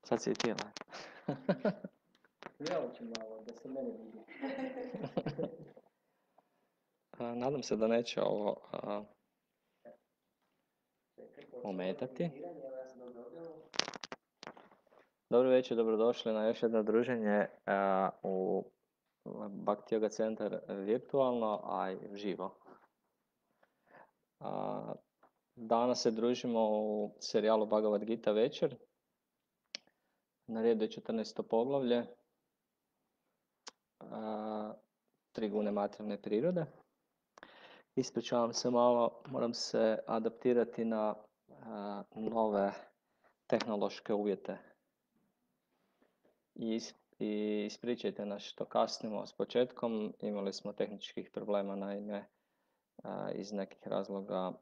Sad si i ti, ovaj. Ja ću malo, da se mene vidi. Nadam se da neće ovo ometati. Dobro večer, dobrodošli na još jedno druženje u Bhakti Yoga Centar virtualno, a i živo. Danas se družimo u serijalu Bhagavad Gita večer. Na redu je 14. poglavlje, tri gune materijalne prirode. Ispričavam se malo, moram se adaptirati na nove tehnološke uvjete. I ispričajte nas što kasnimo s početkom, imali smo tehničkih problema, naime iz nekih razloga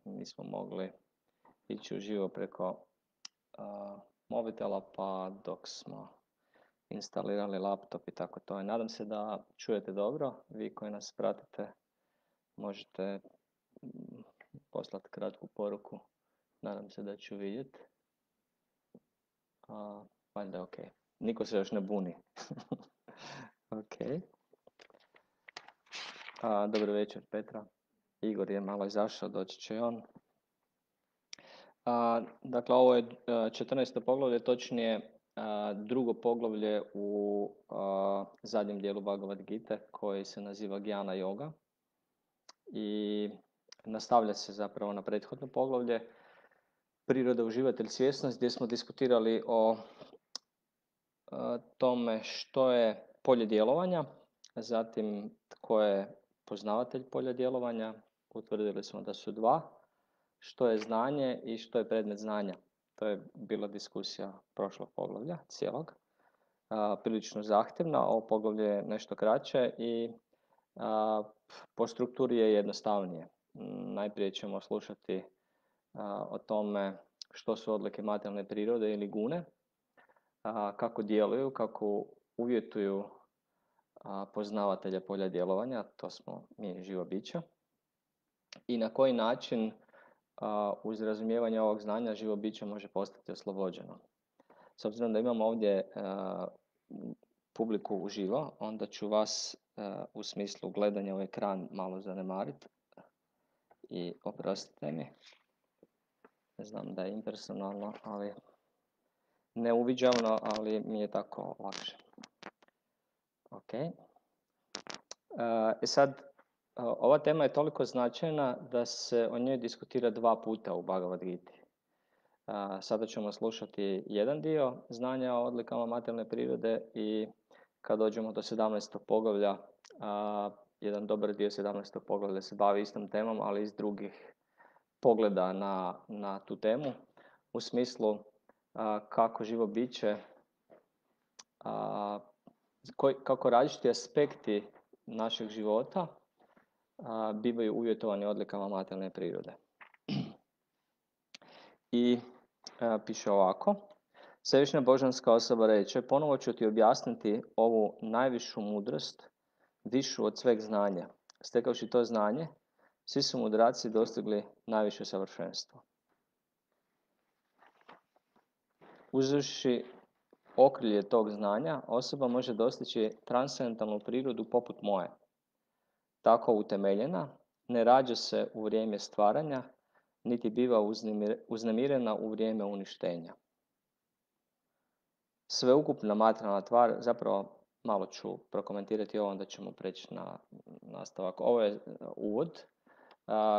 nismo mogli ići uživo preko mobitela, pa dok smo instalirali laptop i tako to. I nadam se da čujete dobro, vi koji nas pratite možete poslati kratku poruku, nadam se da ću vidjeti. Valjda je ok. Niko se još ne buni. Ok. Dobro večer, Petra. Igor je malo izašao, doći će on. Dakle, ovo je 14. poglavlje, točnije drugo poglavlje u zadnjem dijelu Bhagavad Gite koji se naziva Jnana Yoga. I nastavlja se zapravo na prethodno poglavlje Priroda, uživatelj, svjesnost, gdje smo diskutirali o tome što je polje djelovanja, zatim tko je poznavatelj polja djelovanja, utvrdili smo da su dva, što je znanje i što je predmet znanja. To je bila diskusija prošlog poglavlja, cijelog. Prilično zahtjevna, ovo poglavlje je nešto kraće i po strukturi je jednostavnije. Najprije ćemo slušati o tome što su odlike materijalne prirode ili gune, kako djeluju, kako uvjetuju poznavatelja polja djelovanja, to smo mi živo bića, i na koji način uz razumijevanje ovog znanja živo biće može postati oslobođeno. S obzirom da imamo ovdje publiku uživo, onda ću vas u smislu gledanja u ekran malo zanemariti i oprostite mi. Znam da je impersonalno, ali neuviđavno, ali mi je tako lakše. Ok. Sad, ova tema je toliko značajna da se o njoj diskutira 2 puta u Bhagavad Giti. Sada ćemo slušati jedan dio znanja o odlikama materijalne prirode i kad dođemo do 17. poglavlja, jedan dobar dio 17. poglavlja se bavi istom temom, ali iz drugih pogleda na tu temu, u smislu kako živo biće, kako različiti aspekti našeg života bivaju uvjetovani odlikama materijalne prirode. I piše ovako: Svevišnja božanska osoba reče, ponovo ću ti objasniti ovu najvišu mudrost, višu od sveg znanja. Stekavši to znanje, svi su mudraci dostigli najviše savršenstvo. Uzevši okrilje tog znanja, osoba može dostići transcendentalnu prirodu poput moje. Tako utemeljena, ne rađa se u vrijeme stvaranja, niti biva uznemirena u vrijeme uništenja. Sveukupna materijalna tvar, zapravo malo ću prokomentirati ovo, onda ćemo preći na nastavak. Ovo je uvod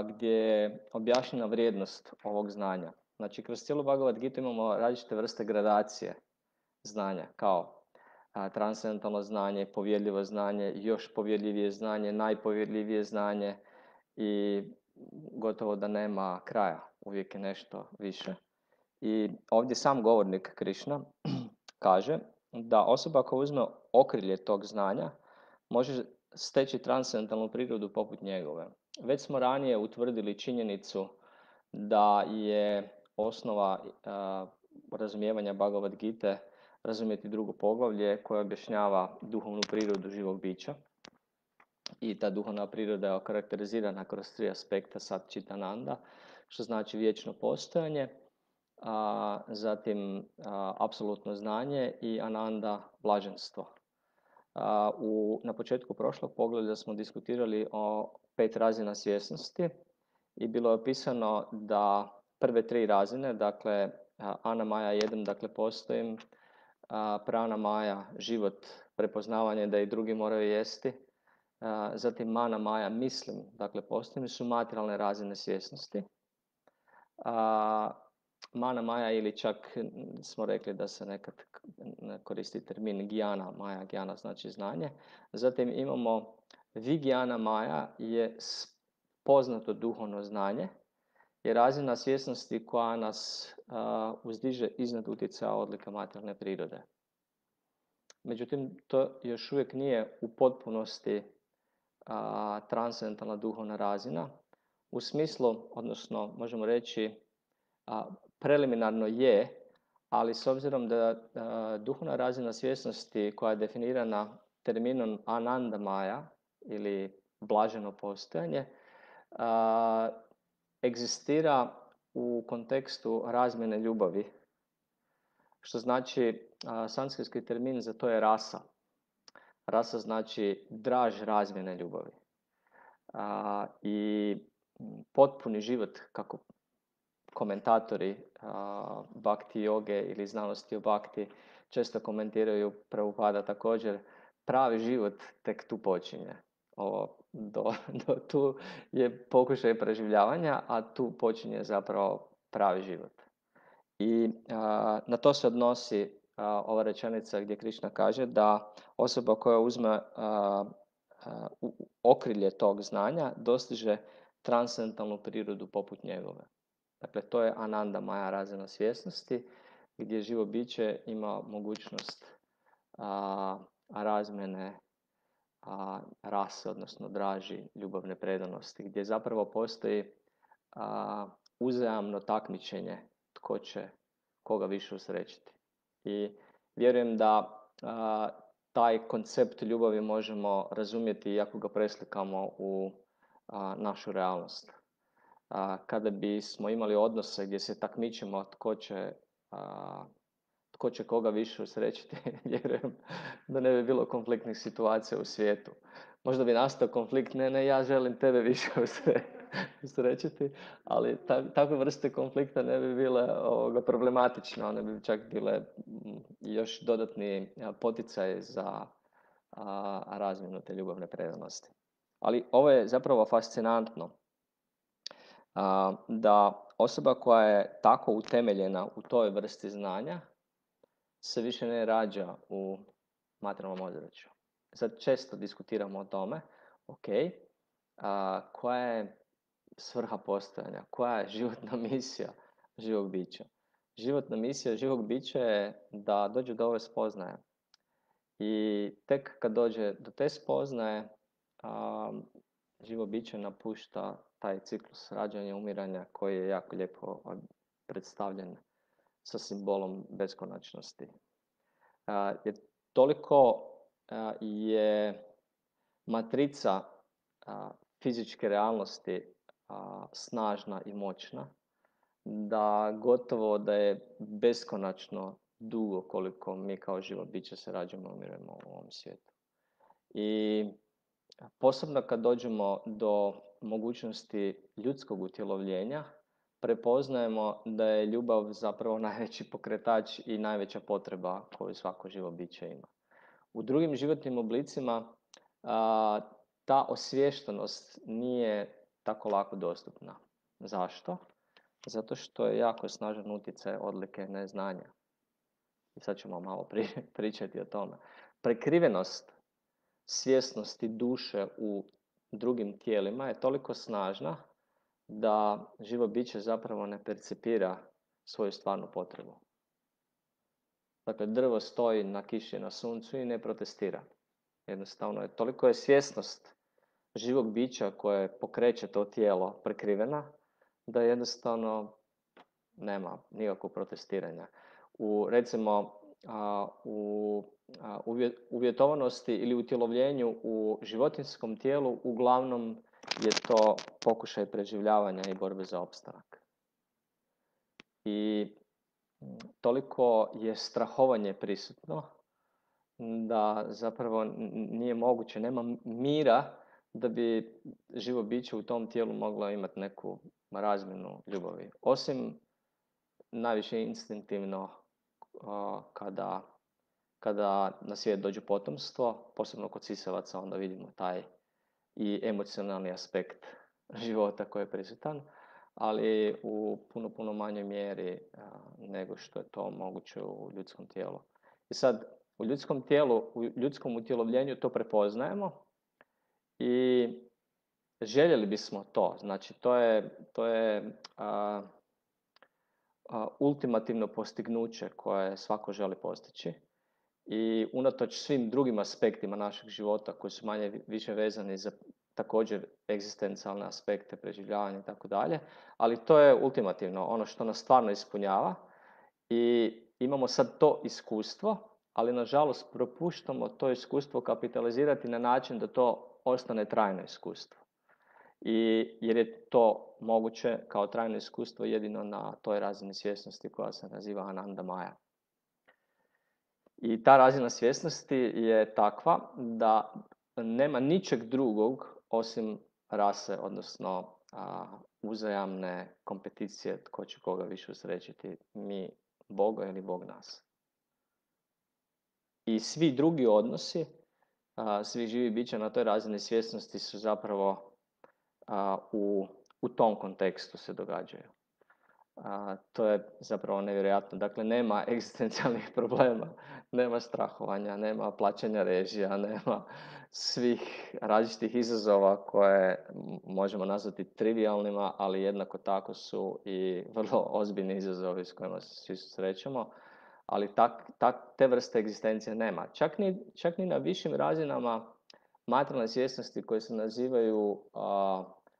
gdje je objašnjena vrijednost ovog znanja. Znači, kroz cijelu Bhagavad Gita imamo različite vrste gradacije znanja, kao transcendentalno znanje, povjerljivo znanje, još povjerljivije znanje, najpovjerljivije znanje i gotovo da nema kraja, uvijek je nešto više. I ovdje sam govornik Krišna kaže da osoba koja uzme okrilje tog znanja može steći transcendentalnu prirodu poput njegove. Već smo ranije utvrdili činjenicu da je osnova razumijevanja Bhagavad Gite razumjeti drugo poglavlje koje objašnjava duhovnu prirodu živog bića. I ta duhovna priroda je okarakterizirana kroz 3 aspekta Satčitananda, što znači vječno postojanje, zatim apsolutno znanje i ananda blaženstvo. Na početku prošlog pogleda smo diskutirali o 5 razina svjesnosti i bilo je opisano da prve 3 razine, dakle Ana Maja 1, dakle postojim, Prana Maja, život, prepoznavanje da i drugi moraju jesti, zatim Mana Maja, mislim, dakle postojim, su materijalne razine svjesnosti. Mana Maja ili čak smo rekli da se nekad koristi termin Gijana Maja, Gijana znači znanje. Zatim imamo Vigijana Maja je poznato duhovno znanje, je razina svjesnosti koja nas uzdiže iznad utjecaja odlika materijalne prirode. Međutim, to još uvijek nije u potpunosti transcendentalna duhovna razina. U smislu, odnosno možemo reći, preliminarno je, ali s obzirom da duhovna razina svjesnosti koja je definirana terminom Ananda Maja ili blaženo postojanje, egzistira u kontekstu razmjene ljubavi, što znači sanskritski termin za to je rasa. Rasa znači draž razmjene ljubavi. I potpuni život, kako komentatori bhakti joge ili znanosti o bhakti često komentiraju, Prabhupada također, pravi život tek tu počinje. Do tu je pokušaj preživljavanja, a tu počinje zapravo pravi život. I na to se odnosi ova rečenica gdje Krišna kaže da osoba koja uzme okrilje tog znanja dostiže transcendentalnu prirodu poput njegove. Dakle, to je Ananda Maja razina svjesnosti, gdje živo biće ima mogućnost razmjene rase, odnosno draži ljubavne predanosti, gdje zapravo postoji uzajamno takmičenje tko će koga više usrećiti. I vjerujem da taj koncept ljubavi možemo razumjeti ako ga preslikamo u našu realnost. Kada bismo imali odnose gdje se takmičimo tko će koga više usrećiti, vjerujem da ne bi bilo konfliktnih situacija u svijetu. Možda bi nastao konflikt, ne, ja želim tebe više usrećiti, ali takve vrste konflikta ne bi bile problematične, one bi čak bile još dodatni poticaj za razmjenu te ljubavne predanosti. Ali ovo je zapravo fascinantno, da osoba koja je tako utemeljena u toj vrsti znanja se više ne rađa u materijalnom ozračju. Sad često diskutiramo o tome, koja je svrha postojanja, koja je životna misija živog bića. Životna misija živog bića je da dođe do ove spoznaje. I tek kad dođe do te spoznaje, živo biće napušta taj ciklus rađanja i umiranja koji je jako lijepo predstavljen sa simbolom beskonačnosti. Jer toliko je matrica fizičke realnosti snažna i moćna, da gotovo da je beskonačno dugo koliko mi kao živo biće se rađamo i umiremo u ovom svijetu. I posebno kad dođemo do mogućnosti ljudskog utjelovljenja, prepoznajemo da je ljubav zapravo najveći pokretač i najveća potreba koju svako živo biće ima. U drugim životnim oblicima ta osviještenost nije tako lako dostupna. Zašto? Zato što je jako snažan utjecaj odlike neznanja. I sad ćemo malo pričati o tome. Prekrivenost svjesnosti duše u drugim tijelima je toliko snažna da živo biće zapravo ne percipira svoju stvarnu potrebu. Dakle, drvo stoji na kiši na suncu i ne protestira. Jednostavno je, toliko je svjesnost živog bića koje pokreće to tijelo prekrivena, da jednostavno nema nikakvog protestiranja. U uvjetovanosti ili utjelovljenju u životinjskom tijelu uglavnom je to pokušaj preživljavanja i borbe za opstanak. I toliko je strahovanje prisutno da zapravo nije moguće, nema mira da bi živo biće u tom tijelu moglo imati neku razmjenu ljubavi. Osim najviše instinktivno kada na svijet dođe potomstvo, posebno kod sisavaca, onda vidimo taj i emocionalni aspekt života koji je prisutan, ali u puno manjoj mjeri nego što je to moguće u ljudskom tijelu. I sad, u ljudskom tijelu, u ljudskom utjelovljenju to prepoznajemo i željeli bismo to. Znači, to je ultimativno postignuće koje svako želi postići. I unatoč svim drugim aspektima našeg života koji su manje više vezani za također egzistencijalne aspekte, preživljavanja i tako dalje, ali to je ultimativno ono što nas stvarno ispunjava i imamo sad to iskustvo, ali nažalost propuštamo to iskustvo kapitalizirati na način da to ostane trajno iskustvo. Jer je to moguće kao trajno iskustvo jedino na toj razini svjesnosti koja se naziva Ananda Maya. I ta razina svjesnosti je takva da nema ničeg drugog osim rase, odnosno uzajamne kompeticije tko će koga više usrećiti, mi Boga ili Bog nas. I svi drugi odnosi, svi živi bića na toj razini svjesnosti su zapravo u tom kontekstu se događaju. To je zapravo nevjerojatno. Dakle, nema egzistencijalnih problema, nema strahovanja, nema plaćanja režija, nema svih različitih izazova koje možemo nazvati trivialnima, ali jednako tako su i vrlo ozbiljni izazovi s kojima se svi susrećemo. Ali te vrste egzistencije nema. Čak ni na višim razinama materijalne svjesnosti koje se nazivaju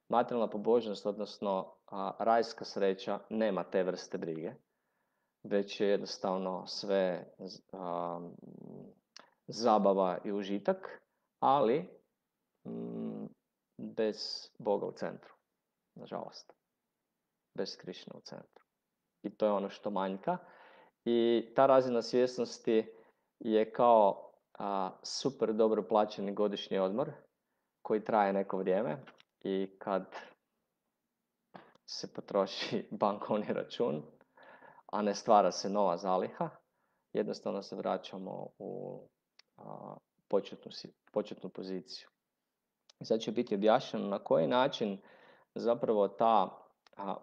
materijalna pobožnost, odnosno rajska sreća, nema te vrste brige, već je jednostavno sve zabava i užitak, ali bez Boga u centru, nažalost. Bez Krišne u centru. I to je ono što manjka. I ta razina svjesnosti je kao super dobro plaćeni godišnji odmor koji traje neko vrijeme i kad se potroši bankovni račun, a ne stvara se nova zaliha, jednostavno se vraćamo u početnu poziciju. I sad će biti objašnjeno na koji način zapravo ta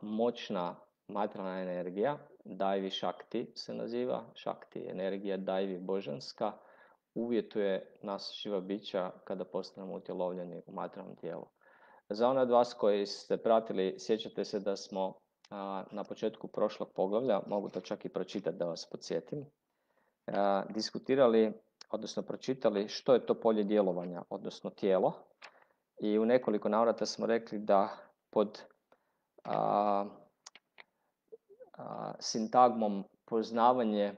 moćna materijalna energija, Daivi Shakti se naziva, Shakti energija Daivi božanska, uvjetuje nas živa bića kada postanemo utjelovljeni u materijalnom tijelu. Za one od vas koji ste pratili, sjećate se da smo na početku prošlog poglavlja, mogu to čak i pročitati da vas podsjetim, diskutirali, odnosno pročitali što je to polje djelovanja, odnosno tijelo. I u nekoliko navrata smo rekli da pod sintagmom poznavanje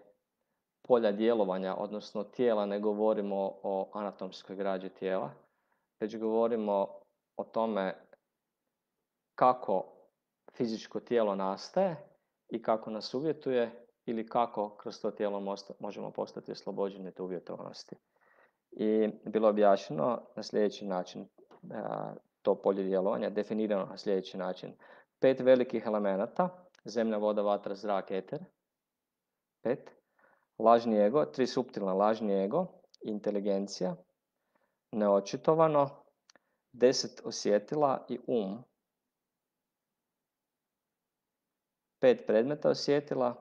polja djelovanja, odnosno tijela, ne govorimo o anatomskoj građi tijela, već govorimo o tome kako fizičko tijelo nastaje i kako nas uvjetuje ili kako kroz to tijelo možemo postati oslobođeni te uvjetovanosti. I bilo objašnjeno na sljedeći način, to polje djelovanja definirano na sljedeći način. 5 velikih elemenata, zemlja, voda, vatra, zrak, eter. 5. Lažni ego, 3 suptilna, lažni ego, inteligencija, neočitovano, 10 osjetila i 5 predmeta osjetila,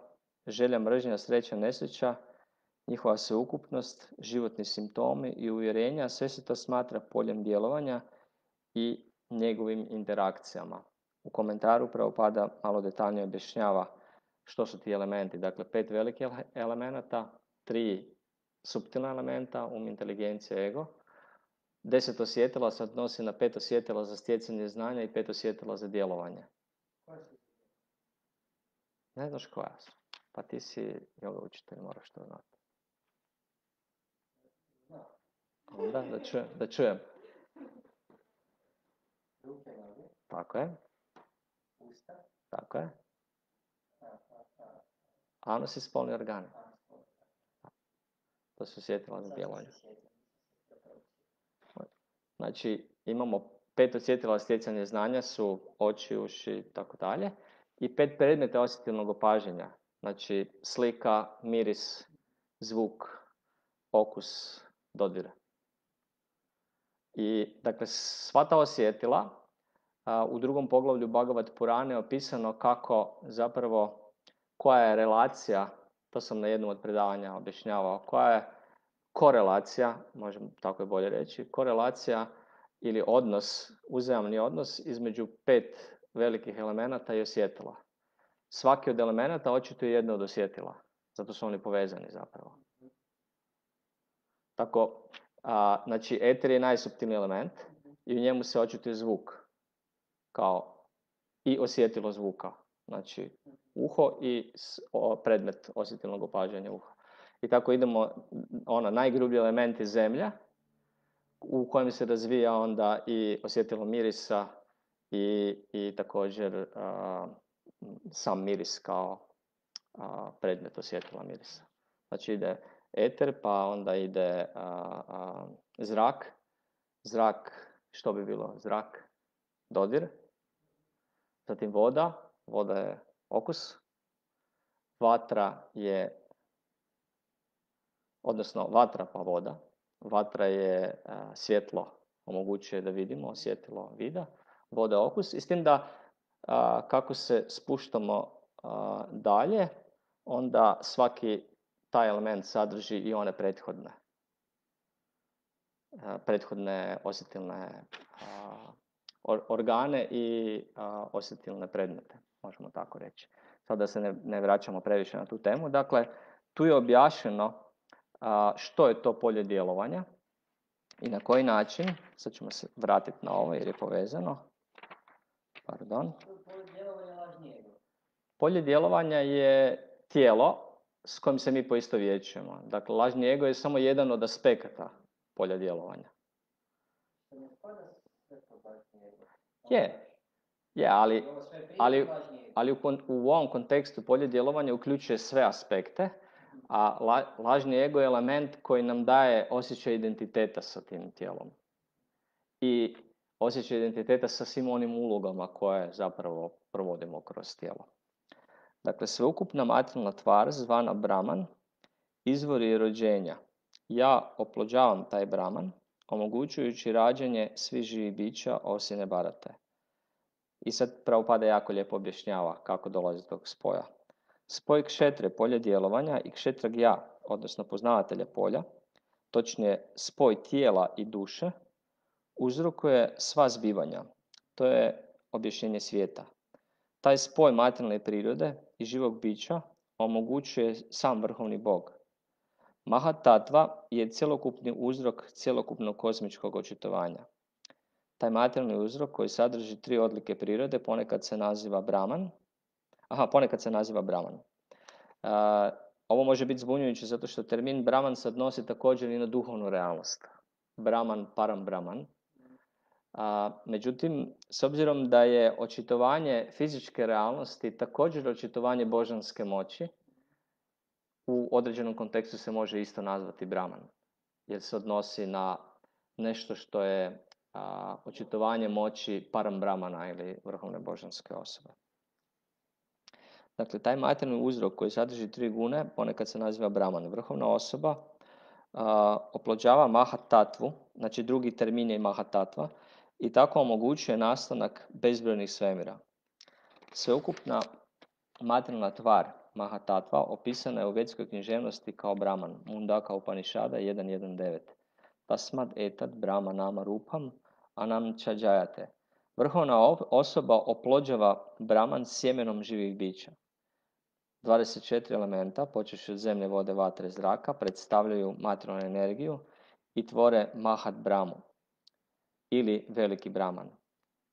želja, mržnja, sreća, nesreća, njihova sveukupnost, životni simptomi i uvjerenja, sve se to smatra poljem djelovanja i njegovim interakcijama. U komentaru Prabhupada malo detaljnije objašnjava što su ti elementi. Dakle, 5 velikih elemenata, 3 suptilna elementa, inteligencija, ego. 10 osjetila se odnosi na 5 osjetila za stjecanje znanja i 5 osjetila za djelovanje. Ne znaš koja su? Pa ti si yoga učitelj, moraš to znati. Onda, da čujem. Tako je. Tako je. Anus i spolni organi. To su osjetila za djelovanje. Znači, imamo 5 osjetila stjecanja znanja su oči, uši i tako dalje. I 5 predmeta osjetilnog opažanja. Znači, slika, miris, zvuk, okus, dodir. I, dakle, sva ta osjetila, u drugom poglavlju Bhagavad Purane je opisano kako zapravo, koja je relacija, to sam na jednom od predavanja objašnjavao, koja je korelacija, možemo tako je bolje reći, korelacija ili odnos, uzajamni odnos između 5 velikih elemenata i osjetila. Svaki od elemenata očituje jedno od osjetila, zato su oni povezani zapravo. Tako, znači, eter je najsuptilniji element i u njemu se očituje zvuk kao i osjetilo zvuka. Znači, uho i predmet osjetilnog opažanja uha. I tako idemo, najgrublji element je zemlja, u kojem se razvija onda i osjetilo mirisa i također sam miris kao predmet osjetila mirisa. Znači ide eter, pa onda ide zrak. Zrak, što bi bilo? Zrak, dodir. Zatim voda. Voda je okus. Vatra je, odnosno vatra pa voda. Vatra je svjetlo, omogućuje da vidimo, osjetilo vida. Voda je okus. I s tim da kako se spuštamo dalje, onda svaki taj element sadrži i one prethodne osjetilne organe i osjetilne predmete, možemo tako reći. Sad da se ne vraćamo previše na tu temu. Dakle, tu je objašnjeno što je to polje djelovanja i na koji način. Sad ćemo se vratiti na ovo jer je povezano. Pardon. Polje djelovanja je tijelo s kojim se mi poistovjećujemo. Dakle, lažni ego je samo jedan od aspekata polja djelovanja. Je, ali u ovom kontekstu polje djelovanja uključuje sve aspekte, a lažni ego je element koji nam daje osjećaj identiteta sa tim tijelom. I osjećaj identiteta sa svim onim ulogama koje zapravo provodimo kroz tijelo. Dakle, sveukupna materijalna tvar zvana Brahman izvor je rođenja. Ja oplođavam taj Brahman, omogućujući rađanje svih živih bića osim Bharate. I sad Prabhupada jako lijepo objašnjava kako dolazi do tog spoja. Spoj kšetre, polje djelovanja, i kšetra gja, odnosno poznavatelja polja, točnije spoj tijela i duše, uzrokuje sva zbivanja. To je objašnjenje svijeta. Taj spoj materijalne prirode i živog bića omogućuje sam vrhovni Bog. Mahatattva je cjelokupni uzrok cjelokupnog kozmičkog očitovanja. Taj materijalni uzrok koji sadrži 3 odlike prirode ponekad se naziva Brahman. Ovo može biti zbunjujuće zato što termin Brahman se odnosi također i na duhovnu realnost. Brahman, Param Brahman. Međutim, s obzirom da je očitovanje fizičke realnosti također očitovanje božanske moći, u određenom kontekstu se može isto nazvati Brahman, jer se odnosi na nešto što je očitovanje moći Param Brahmana ili vrhovne božanske osobe. Dakle, taj materijalni uzrok koji sadrži 3 gune ponekad se naziva Brahman. Vrhovna osoba oplođava Mahatattvu, znači drugi termin je Mahatattva, i tako omogućuje nastanak bezbrojnih svemira. Sveukupna materijalna tvar Mahatattva opisana je u vedskoj književnosti kao Brahman, Mundaka Upanishada 1.1.9. Tasmad etat Brahma nama rupam anam čađajate. Vrhovna osoba oplođava Brahman sjemenom živih bića. 24 elementa, počevši od zemlje, vode, vatre, zraka, predstavljaju materijalnu energiju i tvore Mahat Brahmu, ili veliki Brahman,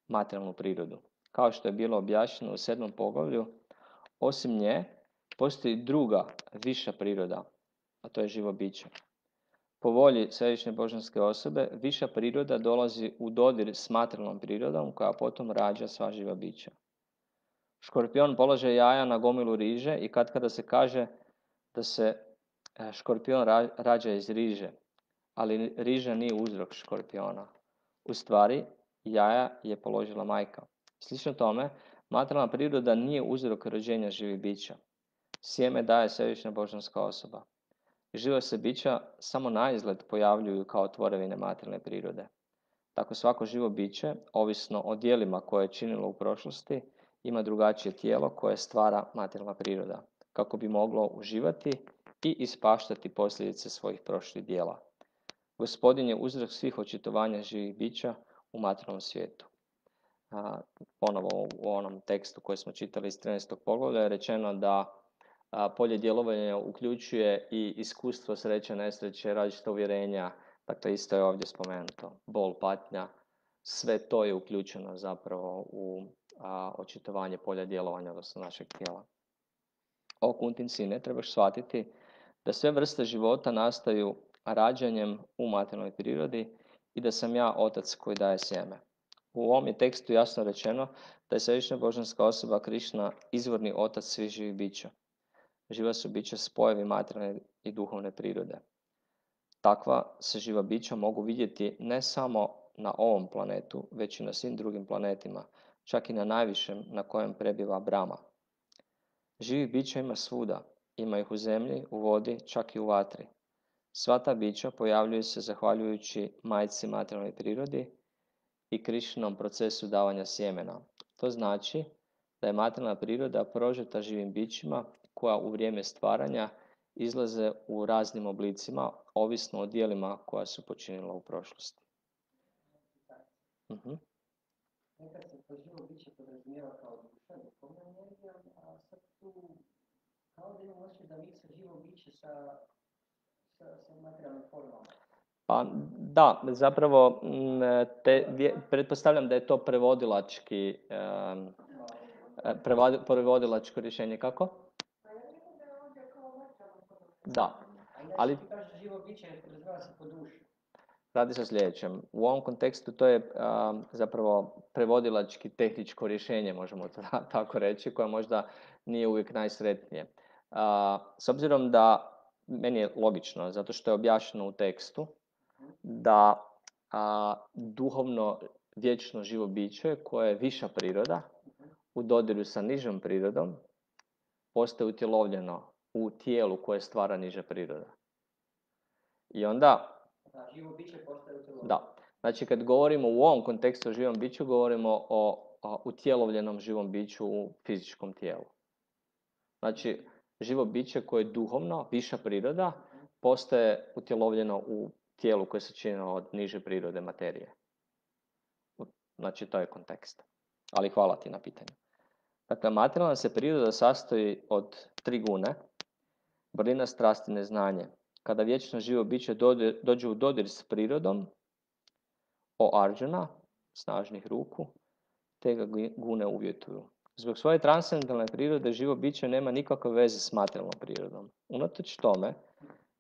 materijalnu prirodu. Kao što je bilo objašnjeno u 7. poglavlju, osim nje postoji druga, viša priroda, a to je živo biće. Po volji središnje božanske osobe, viša priroda dolazi u dodir s materijalnom prirodom koja potom rađa sva živa bića. Škorpion polaže jaja na gomilu riže i kada se kaže da se škorpion rađa iz riže, ali riža nije uzrok škorpiona. U stvari, jaja je položila majka. Slično tome, materijalna priroda nije uzrok rođenja živih bića. Sjeme daje svevišnja božanska osoba. Živa se bića samo naizgled pojavljuju kao tvorevine materijalne prirode. Tako svako živo biće, ovisno o dijelima koje je činilo u prošlosti, ima drugačije tijelo koje stvara materijalna priroda, kako bi moglo uživati i ispaštati posljedice svojih prošlih dijela. Gospodin je uzrok svih očitovanja živih bića u materijalnom svijetu. Ponovo u onom tekstu koji smo čitali iz 13. poglavlja je rečeno da polje djelovanja uključuje i iskustvo sreće, nesreće, različita uvjerenja. Dakle, isto je ovdje spomenuto. Bol, patnja, sve to je uključeno zapravo u očitovanje polja djelovanja, odnosno našeg tijela. O Kuntin sine, trebaš shvatiti da sve vrste života nastaju rađanjem u materijalnoj prirodi i da sam ja otac koji daje sjeme. U ovom je tekstu jasno rečeno da je svevišnja božanska osoba Krišna izvorni otac svih živih bića. Živa su bića spojevi materijalne i duhovne prirode. Takva se živa bića mogu vidjeti ne samo na ovom planetu, već i na svim drugim planetima, čak i na najvišem na kojem prebiva Brahma. Živih bića ima svuda, ima ih u zemlji, u vodi, čak i u vatri. Sva ta bića pojavljuju se zahvaljujući majci materijalnoj prirodi i Krišnom procesu davanja sjemena. To znači da je materijalna priroda prožeta živim bićima koja u vrijeme stvaranja izlaze u raznim oblicima, ovisno o dijelima koja su počinila u prošlosti. Nekad se to živo biće podrazumijeva kao duša, duhovna energija, a sad tu kao da imamo osjećaj da miksa živo biće sa materijalnim formama. Pa da, zapravo pretpostavljam da je to prevodilačko rješenje. Kako? Da, ali živo biće podrazumijeva se po duši. Radi se o sljedećem. U ovom kontekstu to je zapravo prevodilački tehničko rješenje, možemo to tako reći, koje možda nije uvijek najsretnije. S obzirom da, meni je logično, zato što je objašnjeno u tekstu, da duhovno vječno živo biće koje je viša priroda u dodiru sa nižom prirodom postaje utjelovljeno u tijelu koje stvara niža priroda. I onda živo biće postaje utjelovljeno. Da. Znači, kad govorimo u ovom kontekstu o živom biću, govorimo o utjelovljenom živom biću u fizičkom tijelu. Znači, živo biće koje je duhovno, viša priroda, postaje utjelovljeno u tijelu koje se čini od niže prirode materije. Znači, to je kontekst. Ali hvala ti na pitanju. Dakle, materijalna se priroda sastoji od 3 gune, vrlina, strast i neznanje. Kada vječno živo biće dođe u dodir s prirodom, o Arjuna, snažnih ruku, te ga gune uvjetuju. Zbog svoje transcendentalne prirode živo biće nema nikakve veze s materijalnom prirodom. Unatoč tome,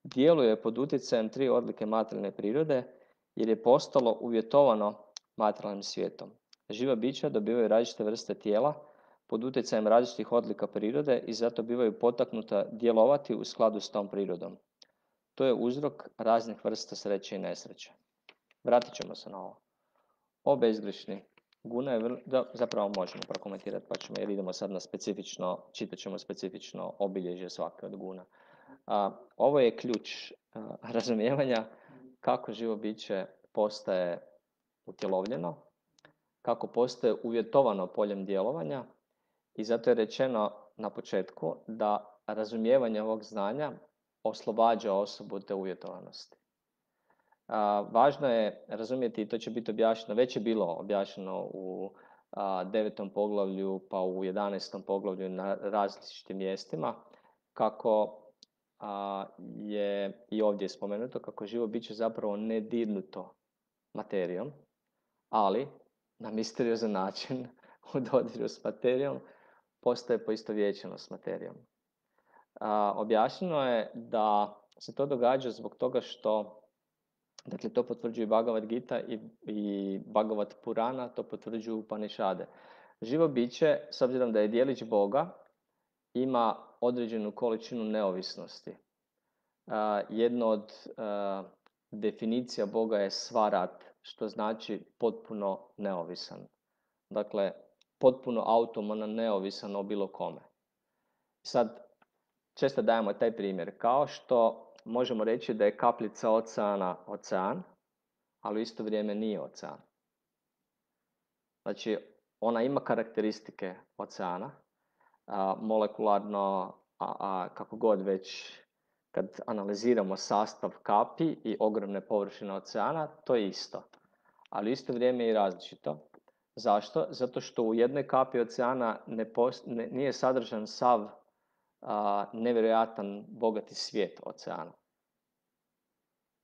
djeluje pod utjecajem 3 odlike materijalne prirode jer je postalo uvjetovano materijalnim svijetom. Živa bića dobivaju različite vrste tijela pod utjecajem različitih odlika prirode i zato bivaju potaknuta djelovati u skladu s tom prirodom. To je uzrok raznih vrsta sreće i nesreće. Vratit ćemo se na ovo. O bezgrešni. Guna je zapravo možemo prokomentirati pa ćemo, jer idemo sad na specifično, čitat ćemo specifično obilježje svake od guna. Ovo je ključ razumijevanja kako živo biće postaje utjelovljeno, kako postaje uvjetovano poljem djelovanja i zato je rečeno na početku da razumijevanje ovog znanja oslobađa osobu te uvjetovanosti. Važno je razumjeti, i to će biti objašnjeno, već je bilo objašnjeno u 9. poglavlju pa u 11. poglavlju na različitim mjestima, kako je i ovdje spomenuto kako je živo biće zapravo nedirnuto materijom, ali na misteriozan način u dodiru s materijom postaje poistovjećeno s materijom. Objašnjeno je da se to događa zbog toga što, dakle, to potvrđuju Bhagavad Gita i Bhagavad Purana, to potvrđuju Upanishade. Živo biće, s obzirom da je dijelić Boga, ima određenu količinu neovisnosti. Jedno od definicija Boga je svarat, što znači potpuno neovisan. Dakle, potpuno autonoman, neovisan o bilo kome. Sad, često dajemo taj primjer, kao što možemo reći da je kapljica oceana ocean, ali u isto vrijeme nije ocean. Znači, ona ima karakteristike oceana, molekularno, kako god već, kad analiziramo sastav kapi i ogromne površine oceana, to je isto. Ali u isto vrijeme je i različito. Zašto? Zato što u jednoj kapi oceana nije sadržan sav nevjerojatan, bogati svijet oceana.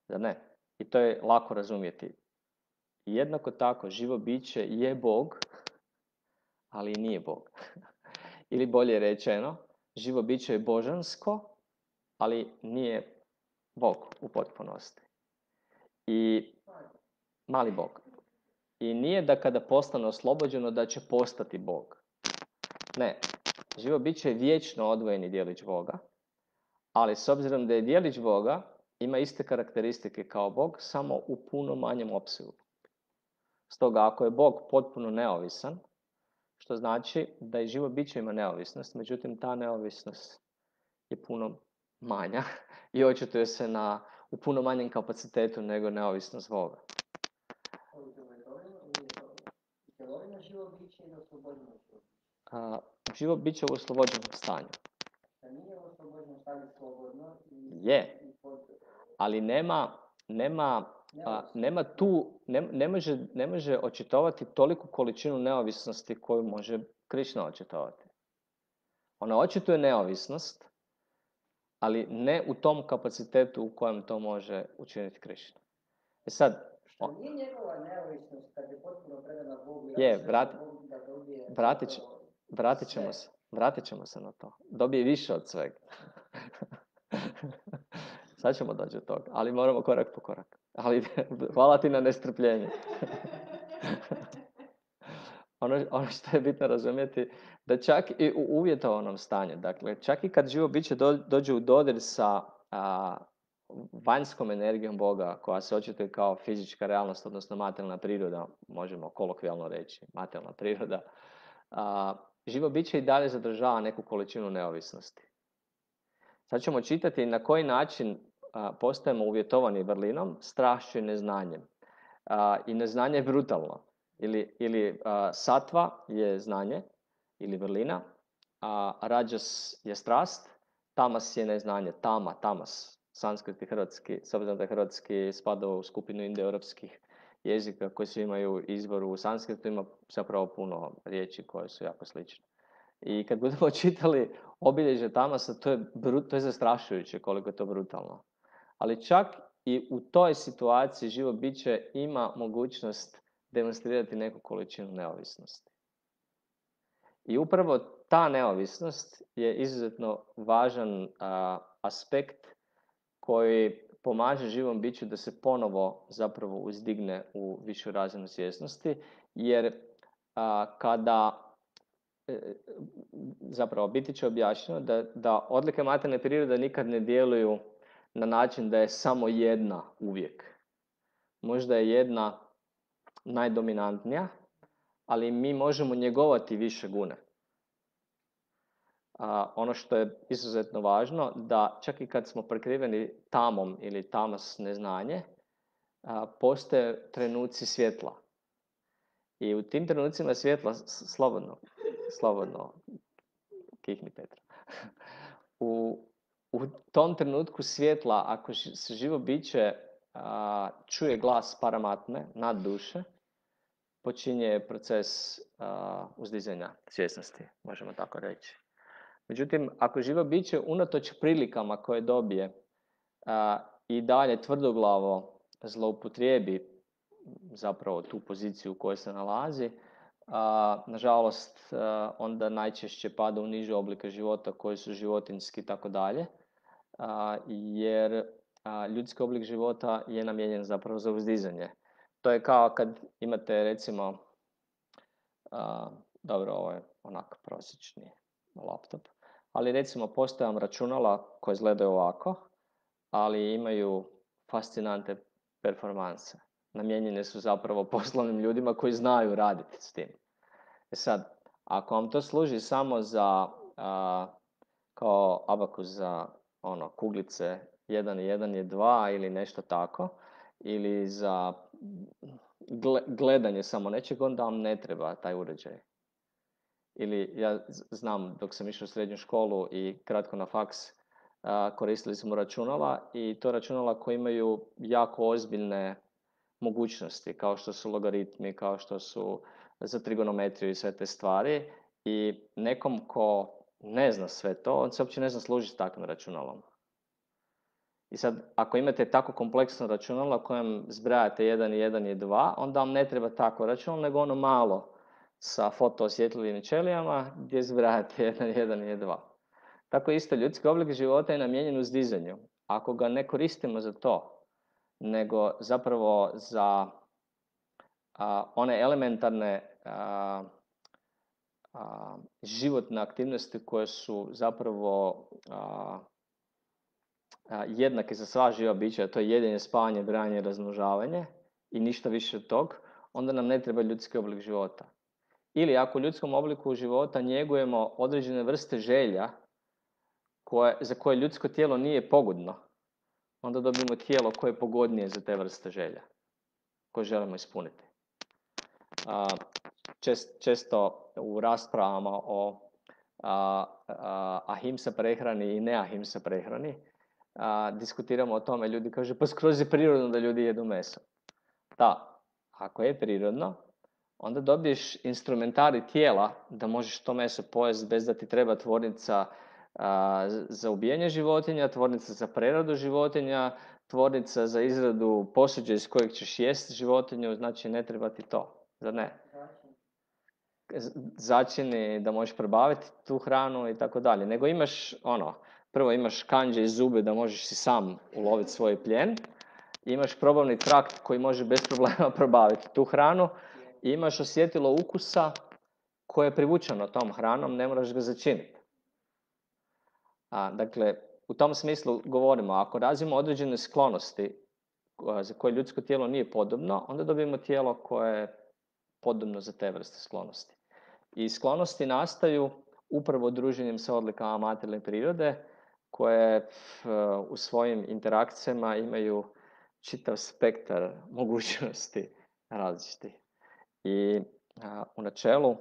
Da ne? I to je lako razumjeti. Jednako tako, živo biće je Bog, ali i nije Bog. Ili bolje rečeno, živo biće je božansko, ali nije Bog u potpunosti. I mali Bog. I nije da kada postane oslobođeno da će postati Bog. Ne, živo biće je vječno odvojeni dijelić Boga, ali s obzirom da je dijelić Boga, ima iste karakteristike kao Bog, samo u puno manjem opsegu. Stoga, ako je Bog potpuno neovisan, što znači da i živo biće ima neovisnost, međutim ta neovisnost je puno manja i očituje se u puno manjem kapacitetu nego neovisnost Boga. Živo biće u oslobođenom stanju. Je, ali ne može očitovati toliku količinu neovisnosti koju može Krišna očitovati. Ona očituje neovisnost, ali ne u tom kapacitetu u kojem to može učiniti Krišna. Sad, što nije njegova neovisnost kad je potpuno predana Bogu. Vratit ćemo se na to. Dobije više od svega. Sad ćemo doći do toga, ali moramo korak po korak. Ali hvala ti na nestrpljenju. Ono što je bitno razumjeti, da čak i u uvjetovanom stanju, dakle, čak i kad živo biće dođe u dodir sa vanjskom energijom Boga, koja se očituje kao fizička realnost, odnosno materijalna priroda, možemo kolokvijalno reći, materijalna priroda, živo biće i dalje zadržava neku količinu neovisnosti. Sad ćemo čitati na koji način postajemo uvjetovani vrlinom, strašću i neznanjem. I neznanje je brutalno. Ili satva je znanje, ili vrlina, rađas je strast, tamas je neznanje, tamas, sanskrit i hrvatski, s obzirom da je hrvatski spada u skupinu indoeuropskih jezika koji svi imaju izvor u sanskritu, ima zapravo puno riječi koje su jako slične. I kad budemo čitali obilježje tamasa, to je zastrašujuće koliko je to brutalno. Ali čak i u toj situaciji živo biće ima mogućnost demonstrirati neku količinu neovisnosti. I upravo ta neovisnost je izuzetno važan aspekt koji pomaže živom biću da se ponovo zapravo uzdigne u višu razinu svjesnosti, jer kada zapravo biti će objašnjeno da odlike materijalne prirode nikad ne djeluju na način da je samo jedna uvijek. Možda je jedna najdominantnija, ali mi možemo njegovati više gune. Ono što je izuzetno važno, da čak i kad smo prekriveni tamom ili tamas neznanje, postoje trenuci svjetla. I u tim trenucima svjetla, slobodno, kihni Petra. U tom trenutku svjetla, ako se živo biće čuje glas paramatme, nad duše, počinje proces uzdizanja svjesnosti, možemo tako reći. Međutim, ako živo biće unatoč prilikama koje dobije i dalje tvrdoglavo zloupotrijebi zapravo tu poziciju u kojoj se nalazi, nažalost, onda najčešće pada u niže oblike života koji su životinjski i tako dalje, jer ljudski oblik života je namijenjen zapravo za uzdizanje. To je kao kad imate, recimo, dobro, ovo je onak prosječni laptop, ali recimo postoje vam računala koje izgledaju ovako, ali imaju fascinante performanse. Namijenjene su zapravo poslovnim ljudima koji znaju raditi s tim. Sad, ako vam to služi samo za kao abakus za kuglice 1 i 1 je 2 ili nešto tako, ili za gledanje samo nečeg, onda vam ne treba taj uređaj. Ili ja znam, dok sam išao u srednju školu i kratko na faks, koristili smo računala i to računala koji imaju jako ozbiljne mogućnosti, kao što su logaritmi, kao što su za trigonometriju i sve te stvari. I nekom ko ne zna sve to, on se uopće ne zna služiti s takvim računalom. I sad, ako imate tako kompleksno računalo u kojem zbrajate 1 i 1 je 2, onda vam ne treba takvo računalo, nego ono malo sa fotoosjetljivim ćelijama gdje zbrajate 1 i 1 je 2. Tako isto, ljudski oblik života je namijenjen uzdizanju. Ako ga ne koristimo za to, nego zapravo za one elementarne životne aktivnosti koje su zapravo jednake za sva živa bića, to je jedenje, spavanje, branje, razmnožavanje i ništa više od tog, onda nam ne treba ljudski oblik života. Ili ako u ljudskom obliku života njegujemo određene vrste želja za koje ljudsko tijelo nije pogodno, onda dobijemo tijelo koje je pogodnije za te vrste želja koje želimo ispuniti. Često u raspravama o ahimsa prehrani i neahimsa prehrani diskutiramo o tome, ljudi kažu pa skroz je prirodno da ljudi jedu meso. Da, ako je prirodno, onda dobiješ instrumentari tijela da možeš to meso pojesti bez da ti treba tvornica za ubijanje životinja, tvornica za preradu životinja, tvornica za izradu posuđa iz kojeg ćeš jesti životinju, znači ne treba ti to, zar ne? Začini da možeš probaviti tu hranu i tako dalje. Nego imaš prvo imaš kandže i zube da možeš si sam uloviti svoj plijen, imaš probavni trakt koji može bez problema probaviti tu hranu i imaš osjetilo ukusa koje je privučeno tom hranom, ne moraš ga začiniti. Dakle, u tom smislu govorimo, ako razvijemo određene sklonosti za koje ljudsko tijelo nije podobno, onda dobijemo tijelo koje je podobno za te vrste sklonosti. I sklonosti nastaju upravo druženjem sa odlikama materijalne prirode, koje u svojim interakcijama imaju čitav spektar mogućnosti različitih. I u načelu,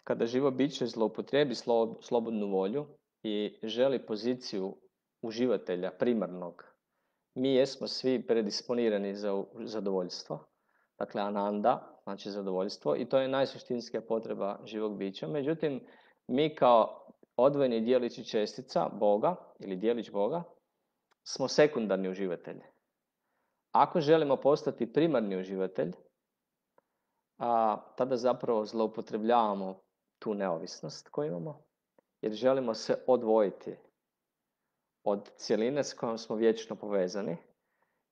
kada živo biće zloupotrijebi slobodnu volju i želi poziciju uživatelja primarnog, mi jesmo svi predisponirani za zadovoljstvo. Dakle, ananda, znači zadovoljstvo, i to je najsuštinskija potreba živog bića. Međutim, mi kao odvojeni dijelići čestica Boga ili dijelić Boga smo sekundarni uživatelji. Ako želimo postati primarni uživatelj, tada zapravo zloupotrebljavamo tu neovisnost koju imamo, jer želimo se odvojiti od cjeline s kojom smo vječno povezani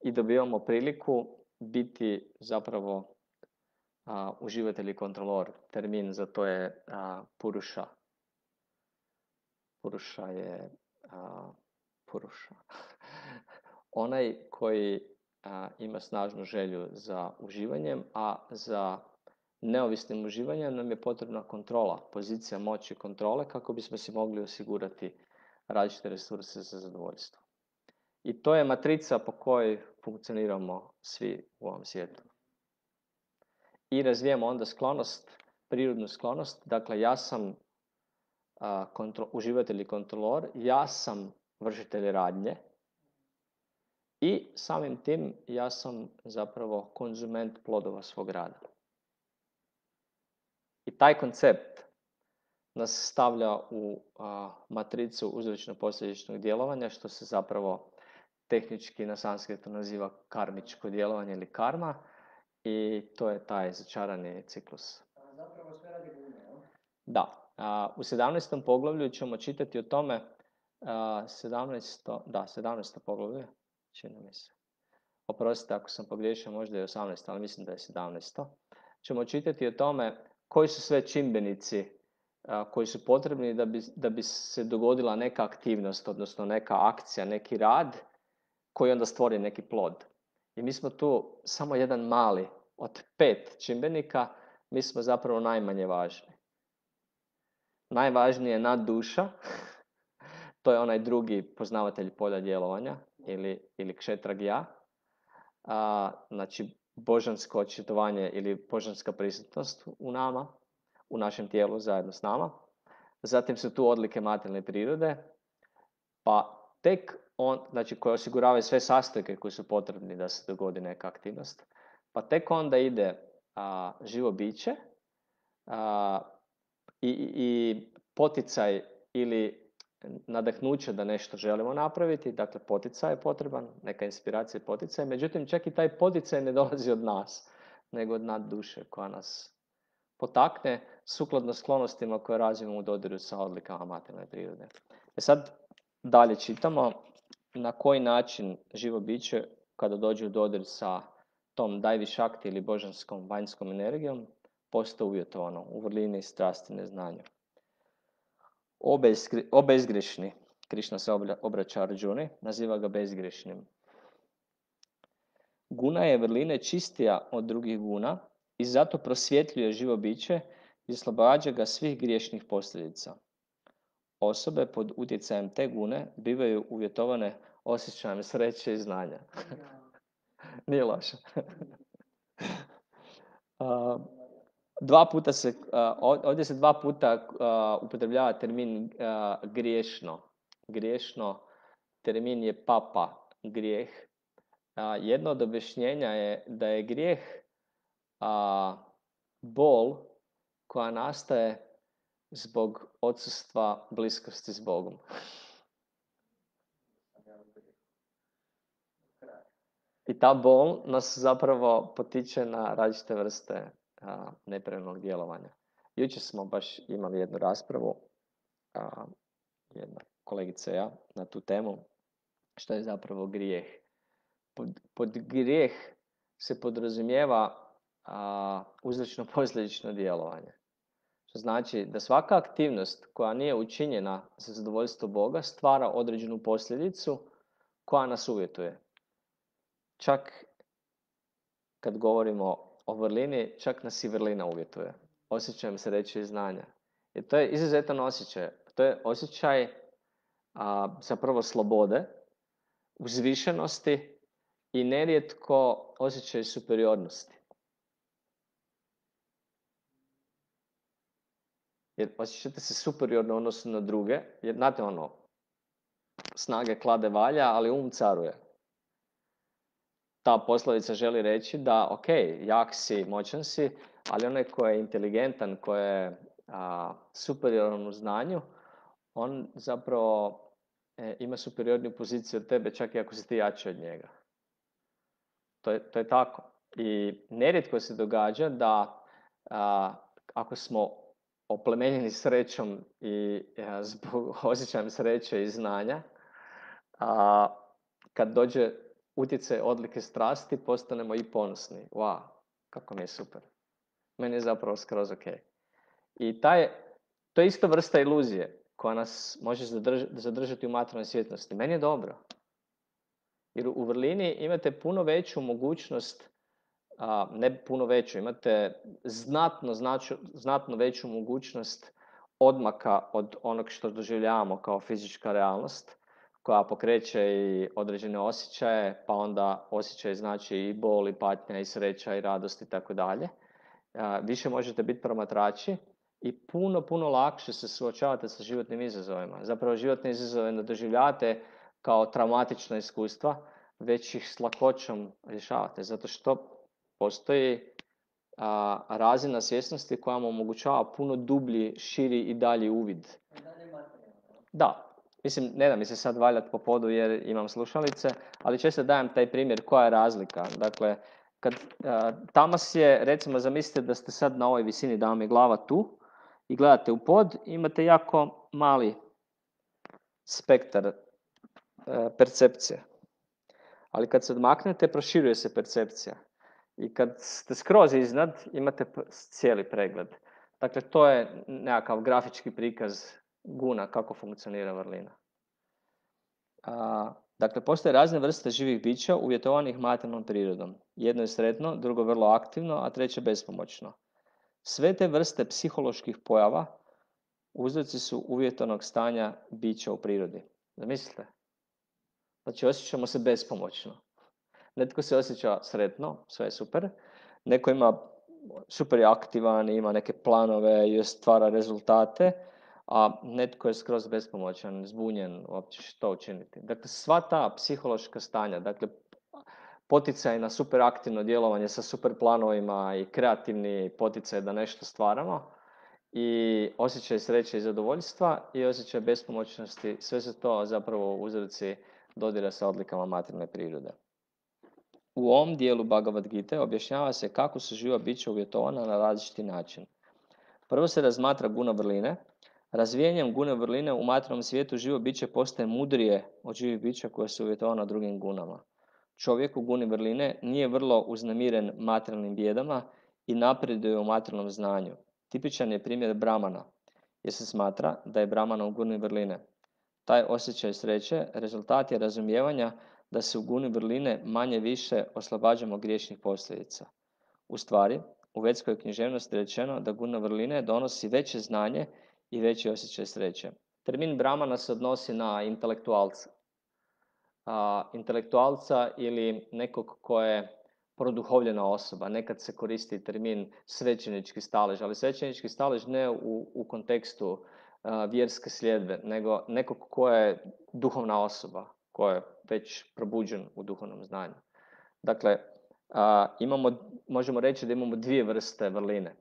i dobivamo priliku biti zapravo uživatelj i kontrolor. Termin za to je puruša. Puruša je puruša. Onaj koji ima snažnu želju za uživanjem, a za neovisnim uživanjem nam je potrebna kontrola, pozicija moći kontrole kako bismo si mogli osigurati različite resurse za zadovoljstvo. I to je matrica po kojoj funkcioniramo svi u ovom svijetu. I razvijamo onda sklonost, prirodnu sklonost. Dakle, ja sam uživatelj i kontrolor, ja sam vršitelj radnje i samim tim ja sam zapravo konzument plodova svog rada. I taj koncept nas stavlja u matricu uzročno-posljedičnog djelovanja, što se zapravo tehnički na sanskritu naziva karmičko djelovanje ili karma, i to je taj začarani ciklus. Zapravo sve radi gume, jel? Da. U 17. poglavlju ćemo čitati o tome, 17. poglavlje, čini mi se. Oprostite ako sam pogriješio, možda je 18, ali mislim da je 17. Ćemo čitati o tome koji su sve čimbenici koji su potrebni da bi se dogodila neka aktivnost, odnosno neka akcija, neki rad koji onda stvori neki plod. I mi smo tu samo jedan mali od 5 čimbenika, mi smo zapravo najmanje važni. Najvažnije je nadduša, to je onaj drugi poznavatelj polja djelovanja ili kšetragija, znači božansko očitovanje ili božanska prisutnost u nama, u našem tijelu zajedno s nama. Zatim su tu odlike materijalne prirode, pa tek znači koje osiguravaju sve sastojke koji su potrebni da se dogodi neka aktivnost. Pa tek onda ide živo biće i poticaj ili nadahnuće da nešto želimo napraviti, dakle poticaj je potreban, neka inspiracija i poticaj, međutim čak i taj poticaj ne dolazi od nas, nego od nad duše koja nas potakne sukladno sklonostima koje razvijemo u dodiru sa odlikama materijalne prirode. Sad dalje čitamo na koji način živo biće kada dođe u dodir sa tom dajvišakti ili božanskom vanjskom energijom postaje uvjetovano u vrlini, strasti, neznanju. Bezgrešni, Krišna se obraća Arjuni, naziva ga bezgrešnim. Guna je vrline čistija od drugih guna i zato prosvjetljuje živo biće i oslobađa ga svih griješnih posljedica. Osobe pod utjecajem te gune bivaju uvjetovane osjećajem sreće i znanja. Nije loše. Ovdje se 2 puta upotrebljava termin griješno. Griješno, termin je papa, grijeh. Jedno od objašnjenja je da je grijeh bol koja nastaje zbog odsustva bliskosti s Bogom. I ta bol nas zapravo potiče na različite vrste nepravilnog djelovanja. Jučer smo baš imali jednu raspravu, jedna kolegica i ja, na tu temu, što je zapravo grijeh. Pod grijeh se podrazumijeva uzročno-posljedično djelovanje. Što znači da svaka aktivnost koja nije učinjena za zadovoljstvo Boga stvara određenu posljedicu koja nas uvjetuje. Čak kad govorimo o vrlini, čak nas i vrlina uvjetuje. Osjećajem sreće i znanja. Jer to je izuzetan osjećaj. To je osjećaj zapravo slobode, uzvišenosti i nerijetko osjećaj superiornosti. Jer osjećate se superiorno u odnosu na druge, jer znate snage klade valja, ali caruje. Ta poslovica želi reći da, ok, jak si, moćan si, ali onaj koji je inteligentan, koji je superioran u znanju, on zapravo ima superiorniju poziciju od tebe, čak i ako si ti jači od njega. To je tako. I nerijetko se događa da ako smo oplemenjeni srećom i zbog osjećajem sreće i znanja, kad dođe utjecaj odlike strasti, postanemo i ponosni. Wow, kako mi je super. Meni je zapravo skroz ok. I to je isto vrsta iluzije koja nas može zadržati u materijalnoj svjetlosti. Meni je dobro. Jer u vrlini imate puno veću mogućnost, ne puno veću, imate znatno veću mogućnost odmaka od onog što doživljavamo kao fizička realnost, koja pokreće i određene osjećaje, pa onda osjećaj znači i bol, i patnja, i sreća, i radost i tako dalje. Više možete biti promatrači i puno lakše se suočavate sa životnim izazovima. Zapravo životne izazove ne doživljavate kao traumatična iskustva, već ih s lakoćom rješavate, zato što postoji razina svjesnosti koja vam omogućava puno dublji, širi i dalji uvid. Da. Mislim, ne da mi se sad valjati po podu jer imam slušalice, ali često dajem taj primjer koja je razlika. Dakle, kad tamas je, recimo zamislite da ste sad na ovoj visini, da vam je glava tu i gledate u pod, imate jako mali spektar percepcije. Ali kad se odmaknete, proširuje se percepcija. I kad ste skroz iznad, imate cijeli pregled. Dakle, to je nekakav grafički prikaz guna kako funkcionira vrlina. Dakle, postoje razne vrste živih bića uvjetovanih materijalnom prirodom. Jedno je sretno, drugo vrlo aktivno, a treće bespomoćno. Sve te vrste psiholoških pojava uzroci su uvjetovanog stanja bića u prirodi. Zamislite? Znači, osjećamo se bespomoćno. Netko se osjeća sretno, sve je super. Neko ima super je aktivan, ima neke planove i stvara rezultate, a netko je skroz bespomoćan, zbunjen, uopće što učiniti. Dakle, sva ta psihološka stanja, dakle, poticaj na super aktivno djelovanje sa super planovima i kreativni poticaj da nešto stvaramo i osjećaj sreće i zadovoljstva i osjećaj bespomoćnosti, sve su to zapravo uzroci dodira sa odlikama materijalne prirode. U ovom dijelu Bhagavad Gita objašnjava se kako su živa bića uvjetovana na različiti način. Prvo se razmatra guna vrline. Razvijanjem gune vrline u materijalnom svijetu živo biće postaje mudrije od živih bića koje su uvjetovana drugim gunama. Čovjek u guni vrline nije vrlo uznemiren materijalnim bijedama i napreduje u materijalnom znanju. Tipičan je primjer Brahmana, jer se smatra da je Brahmana u guni vrline. Taj osjećaj sreće rezultat je razumijevanja da se u guni vrline manje više oslobađamo griješnih posljedica. U stvari, u vedskoj književnosti je rečeno da guna vrline donosi veće znanje i veći osjećaj sreće. Termin Brahmana se odnosi na intelektualca. Intelektualca ili nekog ko je produhovljena osoba. Nekad se koristi termin svećenički stalež, ali svećenički stalež ne u kontekstu vjerske sljedbe, nego nekog ko je duhovna osoba, ko je već probuđen u duhovnom znanju. Dakle, možemo reći da imamo dvije vrste vrline.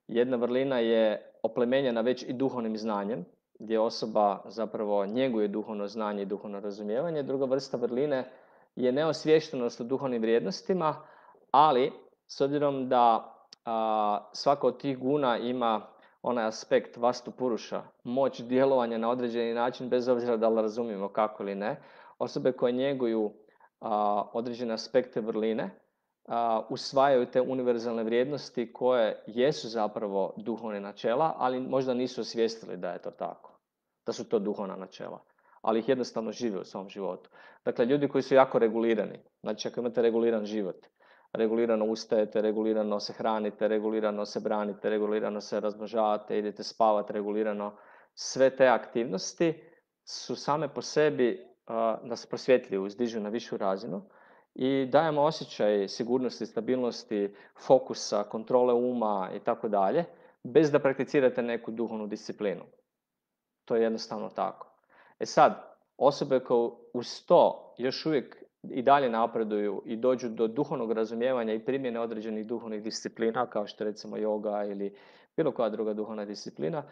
Jedna vrlina je oplemenjena već i duhovnim znanjem, gdje osoba zapravo njeguje duhovno znanje i duhovno razumijevanje. Druga vrsta vrline je neosviještenost o duhovnim vrijednostima, ali s obzirom da svaka od tih guna ima onaj aspekt vastu puruša, moć djelovanja na određeni način, bez obzira da li razumijemo kako ili ne, osobe koje njeguju određene aspekte vrline, usvajaju te univerzalne vrijednosti koje jesu zapravo duhovne načela, ali možda nisu osvijestili da je to tako, da su to duhovna načela, ali ih jednostavno žive u svom životu. Dakle, ljudi koji su jako regulirani, znači ako imate reguliran život, regulirano ustajete, regulirano se hranite, regulirano se branite, regulirano se razmnožavate, idete spavati regulirano, sve te aktivnosti su same po sebi nas prosvjetljuju, uzdižu na višu razinu i dajemo osjećaj sigurnosti, stabilnosti, fokusa, kontrole uma i tako dalje, bez da prakticirate neku duhovnu disciplinu. To je jednostavno tako. E sad, osobe koje uz to još uvijek i dalje napreduju i dođu do duhovnog razumijevanja i primjene određenih duhovnih disciplina, kao što recimo yoga ili bilo koja druga duhovna disciplina,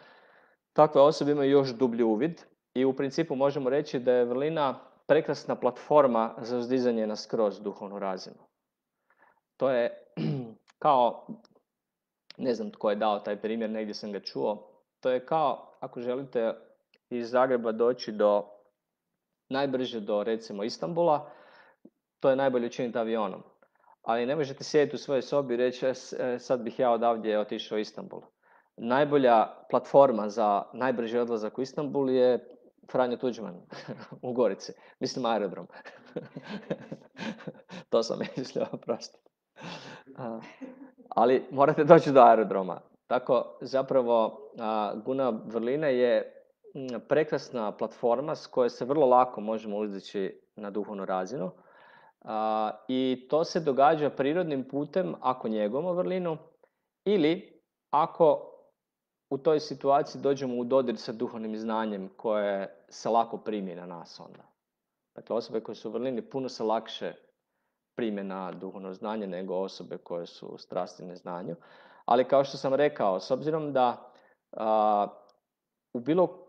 takve osobe imaju još dublji uvid i u principu možemo reći da je vrlina prekrasna platforma za uzdizanje na skroz duhovnu razinu. To je kao, ne znam tko je dao taj primjer, negdje sam ga čuo, to je kao ako želite iz Zagreba doći najbrže do recimo Istanbula, to je najbolje učiniti avionom. Ali ne možete sjediti u svojoj sobi i reći sad bih ja odavdje otišao u Istanbul. Najbolja platforma za najbrži odlazak u Istanbul je Franjo Tuđman u Gorici. Mislim aerodrom. To sam mislio, oprostite. Ali morate doći do aerodroma. Tako zapravo guna vrline je prekrasna platforma s kojoj se vrlo lako možemo uzdići na duhovnu razinu. I to se događa prirodnim putem ako njegujemo vrlinu ili ako u toj situaciji dođemo u dodir sa duhovnim znanjem koje se lako primi na nas onda. Dakle, osobe koje su u vrlini puno se lakše prime na duhovno znanje nego osobe koje su u strasti neznanju. Ali kao što sam rekao, s obzirom da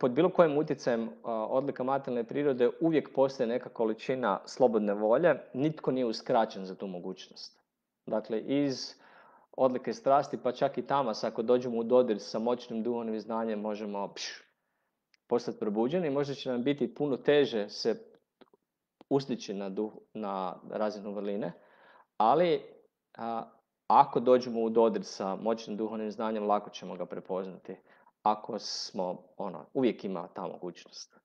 pod bilo kojim utjecajem odlika materijalne prirode uvijek postoji neka količina slobodne volje, nitko nije uskraćen za tu mogućnost. Dakle, iz odlike strasti, pa čak i tamas, ako dođemo u dodir sa moćnim duhovnim znanjem, možemo postati probuđeni. Možda će nam biti puno teže se ustići na razinu vrline, ali ako dođemo u dodir sa moćnim duhovnim znanjem, lako ćemo ga prepoznati. Ako smo, uvijek ima ta mogućnost.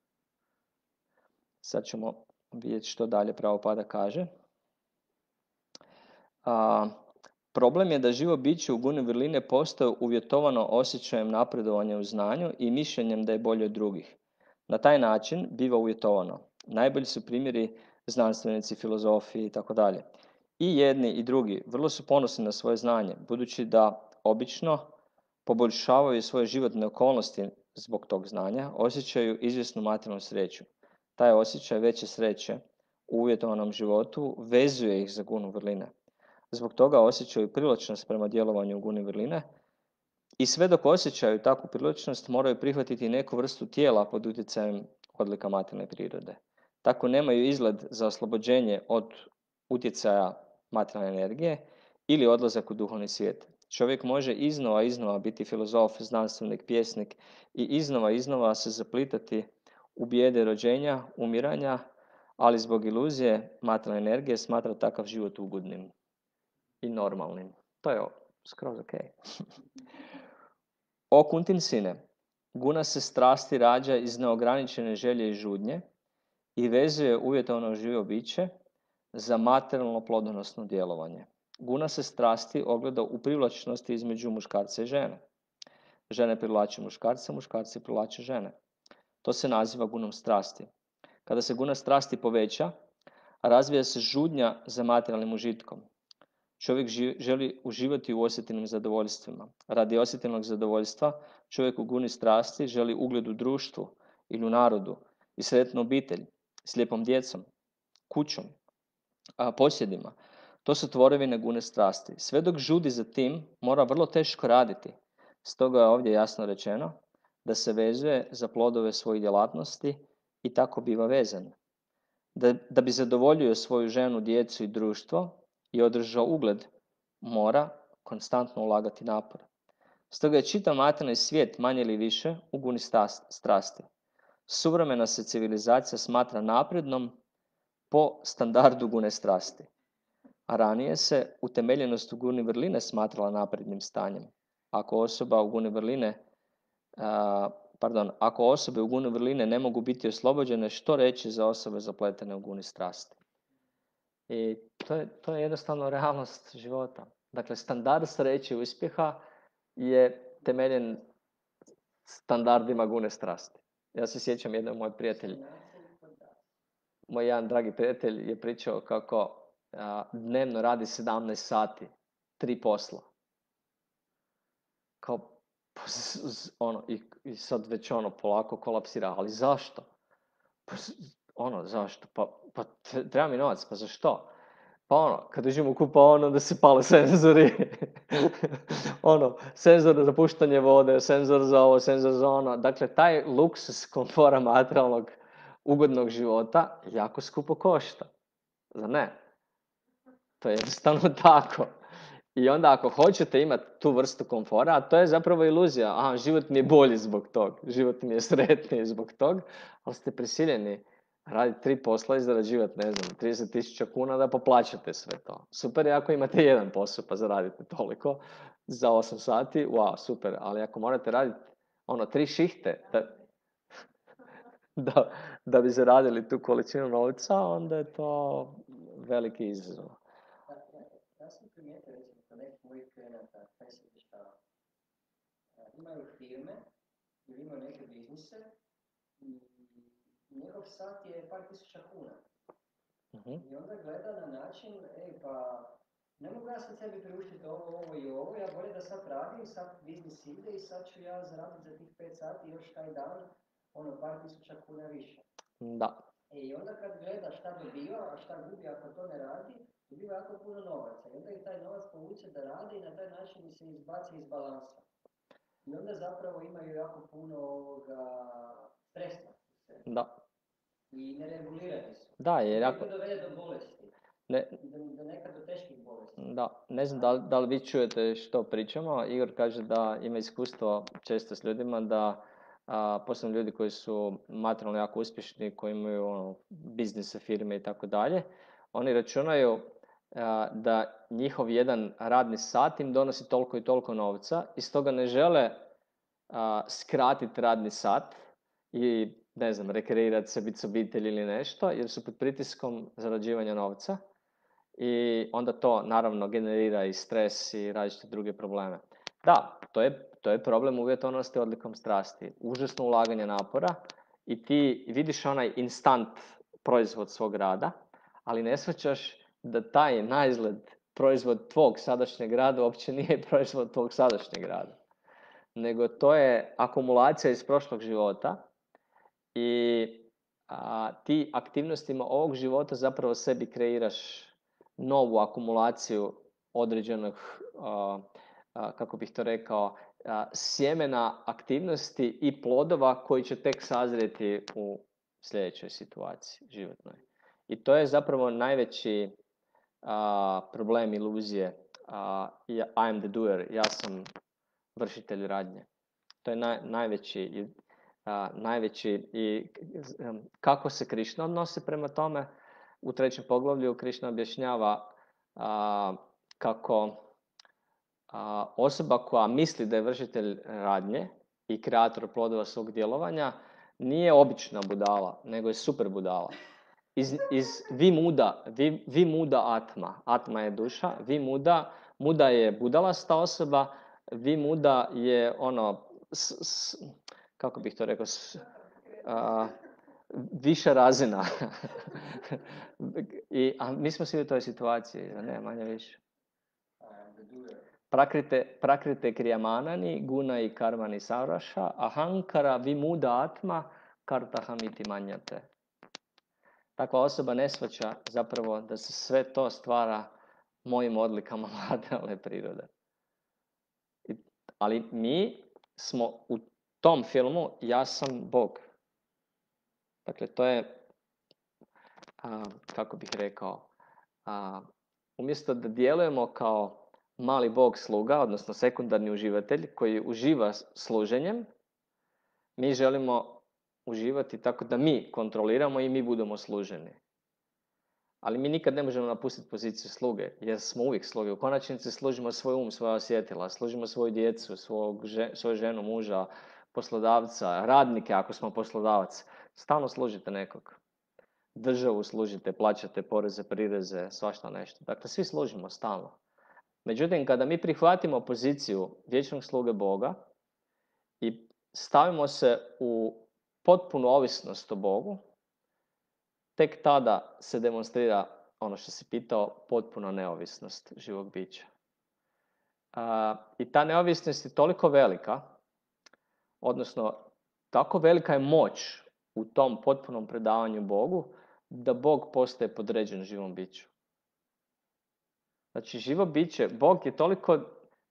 Sad ćemo vidjeti što dalje Prabhupada kaže. Problem je da živo biće u guni vrline postoje uvjetovano osjećajem napredovanja u znanju i mišljenjem da je bolje od drugih. Na taj način biva uvjetovano. Najbolji su primjeri znanstvenici, filozofi i tako dalje. I jedni i drugi vrlo su ponosni na svoje znanje, budući da obično poboljšavaju svoje životne okolnosti zbog tog znanja, osjećaju izvjesnu materijalnu sreću. Taj osjećaj veće sreće u uvjetovanom životu vezuje ih za gunu vrline. Zbog toga osjećaju privlačnost prema djelovanju u guni vrline i sve dok osjećaju takvu privlačnost moraju prihvatiti neku vrstu tijela pod utjecajem odlika materijalne prirode. Tako nemaju izgled za oslobođenje od utjecaja materijalne energije ili odlazak u duhovni svijet. Čovjek može iznova biti filozof, znanstvenik, pjesnik i iznova se zaplitati u bijede rođenja, umiranja, ali zbog iluzije materijalne energije smatra takav život ugodnim i normalnim. To je skroz ok. O Kuntin sine, guna se strasti rađa iz neograničene želje i žudnje i vezuje uvjetovano živo biće za materijalno plodonosno djelovanje. Guna se strasti ogleda u privlačnosti između muškarca i žene. Žene privlače muškarce, muškarci privlače žene. To se naziva gunom strasti. Kada se guna strasti poveća, razvija se žudnja za materijalnim užitkom. Čovjek želi uživati u osjetilnim zadovoljstvima. Radi osjetilnog zadovoljstva čovjek u guni strasti želi ugled u društvu ili u narodu i sretnu obitelj s lijepom djecom, kućom, posjedima. To su tvorevine gune strasti. Sve dok žudi za tim, mora vrlo teško raditi. Stoga je ovdje jasno rečeno da se vezuje za plodove svojih djelatnosti i tako biva vezan. Da bi zadovoljio svoju ženu, djecu i društvo i održao ugled, mora konstantno ulagati napor. Stoga je čitav materijalni svijet manje ili više u guni strasti. Suvremena se civilizacija smatra naprednom po standardu gune strasti. A ranije se utemeljenost u guni vrline smatrala naprednim stanjem. Ako osobe u guni vrline ne mogu biti oslobođene, što reći za osobe zapletene u guni strasti? I to je jednostavno realnost života. Dakle, standard sreće i uspjeha je temeljen standardima gune strasti. Ja se sjećam moj jedan dragi prijatelj je pričao kako dnevno radi 17 sati, 3 posla. Kao, i sad već polako kolapsira, ali zašto? Zašto? Pa treba mi novac, pa za što? Pa kad uđem u kupaonu, onda se pale senzori. Senzor za puštanje vode, senzor za ovo, senzor za ono. Dakle, taj luksus komfora materijalnog ugodnog života jako skupo košta. Zar ne? To je jednostavno tako. I onda ako hoćete imati tu vrstu komfora, a to je zapravo iluzija. Život mi je bolji zbog tog. Život mi je sretniji zbog tog. Ali ste prisiljeni raditi 3 posla i zarađivati, 30.000 kuna da poplaćate sve to. Super je ako imate jedan posao pa zaradite toliko za 8 sati. Wow, super. Ali ako morate raditi 3 šihte da bi zaradili tu količinu novca, onda je to veliki izazov. Ja sam primijetio, recimo, kod nekih mojih klijenata, imaju firme ili imaju neke biznise i njegov sat je par tisuća kuna. I onda gleda na način, pa ne mogu ja sad sebi priuštiti ovo i ovo, ja bolje da sad radim, sad biznis ide i sad ću ja zaraditi za tih 5 sati još taj dan, par tisuća kuna više. Da. I onda kad gleda šta dobiva, a šta gubi ako to ne radi, dobiva jako puno novaca. I onda i taj novac povuče da radi i na taj način se izbaci iz balansa. I onda zapravo imaju jako puno stresa. Da. I neregulirani su. Da, jer ako... I dovede do bolesti. Do nekad do teških bolesti. Da, ne znam da li vi čujete što pričamo. Igor kaže da ima iskustvo često s ljudima da posebno ljudi koji su materijalno jako uspješni, koji imaju biznise, firme i tako dalje, oni računaju da njihov jedan radni sat im donosi toliko i toliko novca i stoga ne žele skratiti radni sat i, ne znam, rekreirati se, biti s obitelji ili nešto, jer su pod pritiskom zarađivanja novca i onda to naravno generira i stres i različite druge probleme. Da, to je problem uvjetovanosti odlikom strasti. Užasno ulaganje napora i ti vidiš onaj instant proizvod svog rada, ali ne shvaćaš da taj naizgled proizvod tvog sadašnjeg rada uopće nije proizvod tvog sadašnjeg rada. Nego to je akumulacija iz prošlog života i ti aktivnostima ovog života zapravo sebi kreiraš novu akumulaciju određenog, kako bih to rekao, sjemena aktivnosti i plodova koji će tek sazrijeti u sljedećoj situaciji životnoj. I to je zapravo najveći problem iluzije. I am the doer, ja sam vršitelj radnje. To je najveći i kako se Krišna odnosi prema tome. U 3. poglavlju Krišna objašnjava kako osoba koja misli da je vršitelj radnje i kreator plodova svog djelovanja nije obična budala, nego je super budala. Iz vimuda atma. Atma je duša, muda je budalasta osoba, vimuda je ono, kako bih to rekao, viša razina. A mi smo svi u toj situaciji, ne, manje više. Prakrite kriyamanani, guna i karmani sauraša, ahankara vimuda atma, kartahamiti manjate. Takva osoba ne shvaća zapravo da se sve to stvara mojim odlikama materijalne prirode. Ali mi smo u tom filmu ja sam Bog. Dakle, to je, kako bih rekao, umjesto da djelujemo kao mali Bog sluga, odnosno sekundarni uživatelj koji uživa služenjem, mi želimo uživati tako da mi kontroliramo i mi budemo služeni. Ali mi nikad ne možemo napustiti poziciju sluge, jer smo uvijek sluge. U konačnici služimo svoj svoja osjetila, služimo svoju djecu, svoju ženu, muža, poslodavca, radnike ako smo poslodavac. Stalno služite nekog. Državu služite, plaćate poreze, prireze, svašta nešto. Dakle, svi služimo stalno. Međutim, kada mi prihvatimo poziciju vječnog sluge Boga i stavimo se u potpunu ovisnost o Bogu, tek tada se demonstrira ono što si pitao, potpuna neovisnost živog bića. I ta neovisnost je toliko velika, odnosno tako velika je moć u tom potpunom predavanju Bogu, da Bog postaje podređen živom biću. Znači, živo biće, Bog je toliko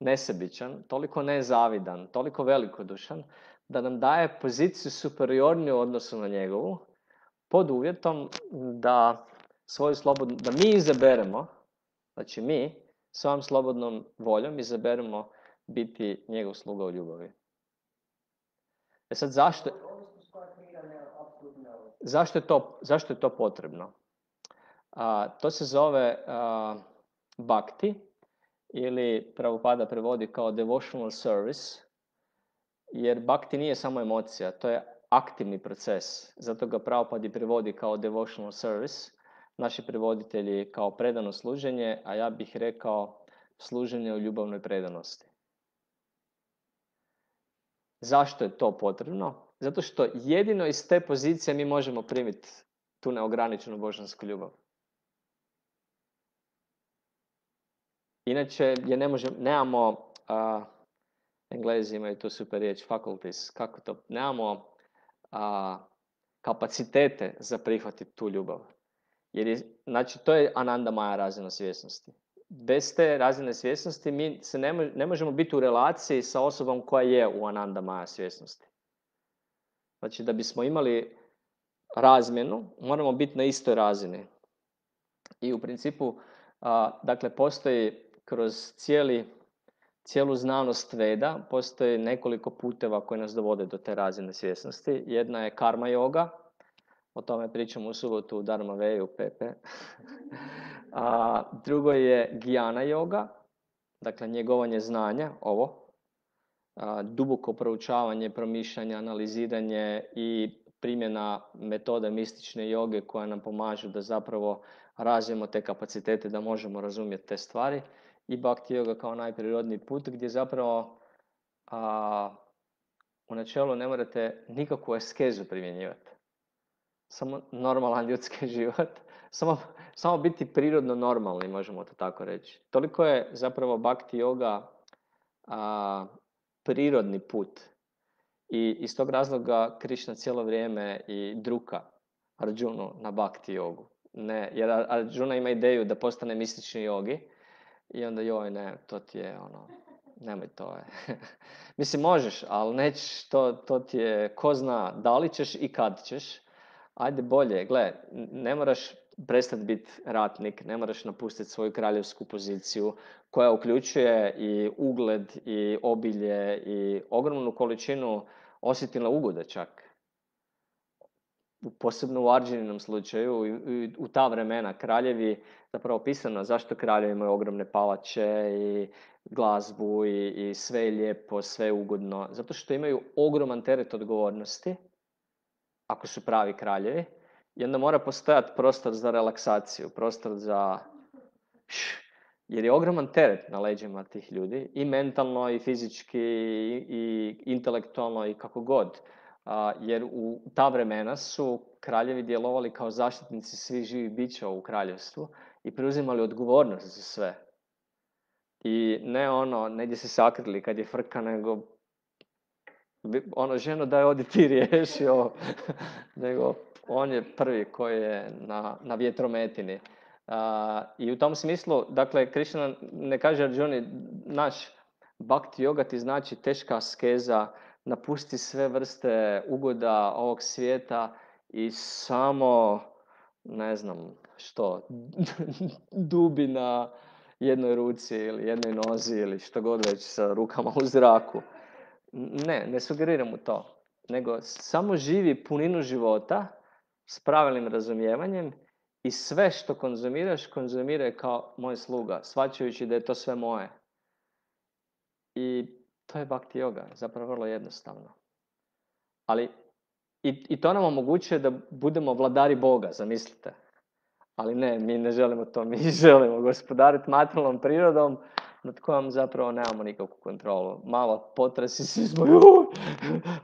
nesebičan, toliko nezavidan, toliko velikodušan, da nam daje poziciju superiorniju u odnosu na njegovu, pod uvjetom da da mi izaberemo, znači mi svojom slobodnom voljom izaberemo biti njegov sluga u ljubavi. Sad zašto je to potrebno? To se zove bhakti, ili Prabhupada prevodi kao devotional service, jer bhakti nije samo emocija, to je aktivni proces. Zato ga Prabhupada prevodi kao devotional service, naši prevoditelji kao predano služenje, a ja bih rekao služenje u ljubavnoj predanosti. Zašto je to potrebno? Zato što jedino iz te pozicije mi možemo primiti tu neograničenu božansku ljubav. Inače, nemamo, Englezi imaju tu super riječ, faculties, kako to, nemamo kapacitete za prihvatiti tu ljubav. Znači, to je Ananda Maya razina svjesnosti. Bez te razine svjesnosti mi se ne možemo biti u relaciji sa osobom koja je u Ananda Maya svjesnosti. Znači, da bismo imali razmjenu, moramo biti na istoj razini. I u principu, dakle, postoji kroz cijelu znanost Veda, postoji nekoliko puteva koji nas dovode do te razine svjesnosti. Jedna je karma yoga, O tome pričam u subotu u Dharma Veju, Pepe. A drugo je Gijana yoga, dakle njegovanje znanja, ovo. Duboko proučavanje, promišljanje, analiziranje i primjena metode mistične joge koja nam pomažu da zapravo razvijemo te kapacitete da možemo razumjeti te stvari. I Bhakti yoga kao najprirodniji put gdje zapravo u načelu ne morate nikakvu askezu primjenjivati. Samo normalan ljudski život. Samo biti prirodno normalni, možemo to tako reći. Toliko je zapravo Bhakti yoga prirodni put. I iz tog razloga Krišna cijelo vrijeme i druka Arjunu na Bhakti jogu. Ne, jer Arjuna ima ideju da postane mistični jogi i onda joj ne, to ti je nemoj to je. Mislim možeš, ali nećeš, to ti je, ko zna da li ćeš i kad ćeš. Ajde bolje, gle, ne moraš prestati biti ratnik, ne moraš napustiti svoju kraljevsku poziciju koja uključuje i ugled i obilje i ogromnu količinu osjetilne ugode čak. Posebno u Arjuninom slučaju, u ta vremena kraljevi, zapravo opisano zašto kraljevi imaju ogromne palače i glazbu i sve je lijepo, sve je ugodno. Zato što imaju ogroman teret odgovornosti, ako su pravi kraljevi, i onda mora postojati prostor za relaksaciju, prostor za... Jer je ogroman teret na leđima tih ljudi, i mentalno, i fizički, i intelektualno, i kako god. Jer u ta vremena su kraljevi djelovali kao zaštitnici svih živih bića u kraljevstvu i preuzimali odgovornost za sve. I ne negdje se sakrili kad je frka, nego ženo daj odi ti riješi ovo, nego on je prvi koji je na vjetrometini. I u tom smislu, dakle, Krišna ne kaže Arjuni, naš Bhakti yoga ti znači teška askeza, napusti sve vrste ugoda ovog svijeta i samo, ne znam što, dubi na jednoj ruci ili jednoj nozi ili što god već sa rukama u zraku. Ne sugeriram mu to, nego samo živi puninu života s pravilnim razumijevanjem i sve što konzumiraj kao moj sluga, shvaćajući da je to sve moje. I to je Bhakti yoga, zapravo vrlo jednostavno. Ali i to nam omogućuje da budemo vladari Boga, zamislite. Ali ne, mi ne želimo to, mi želimo gospodariti materijalnom prirodom nad kojom zapravo nemamo nikakvu kontrolu. Malo potresi, svi smo,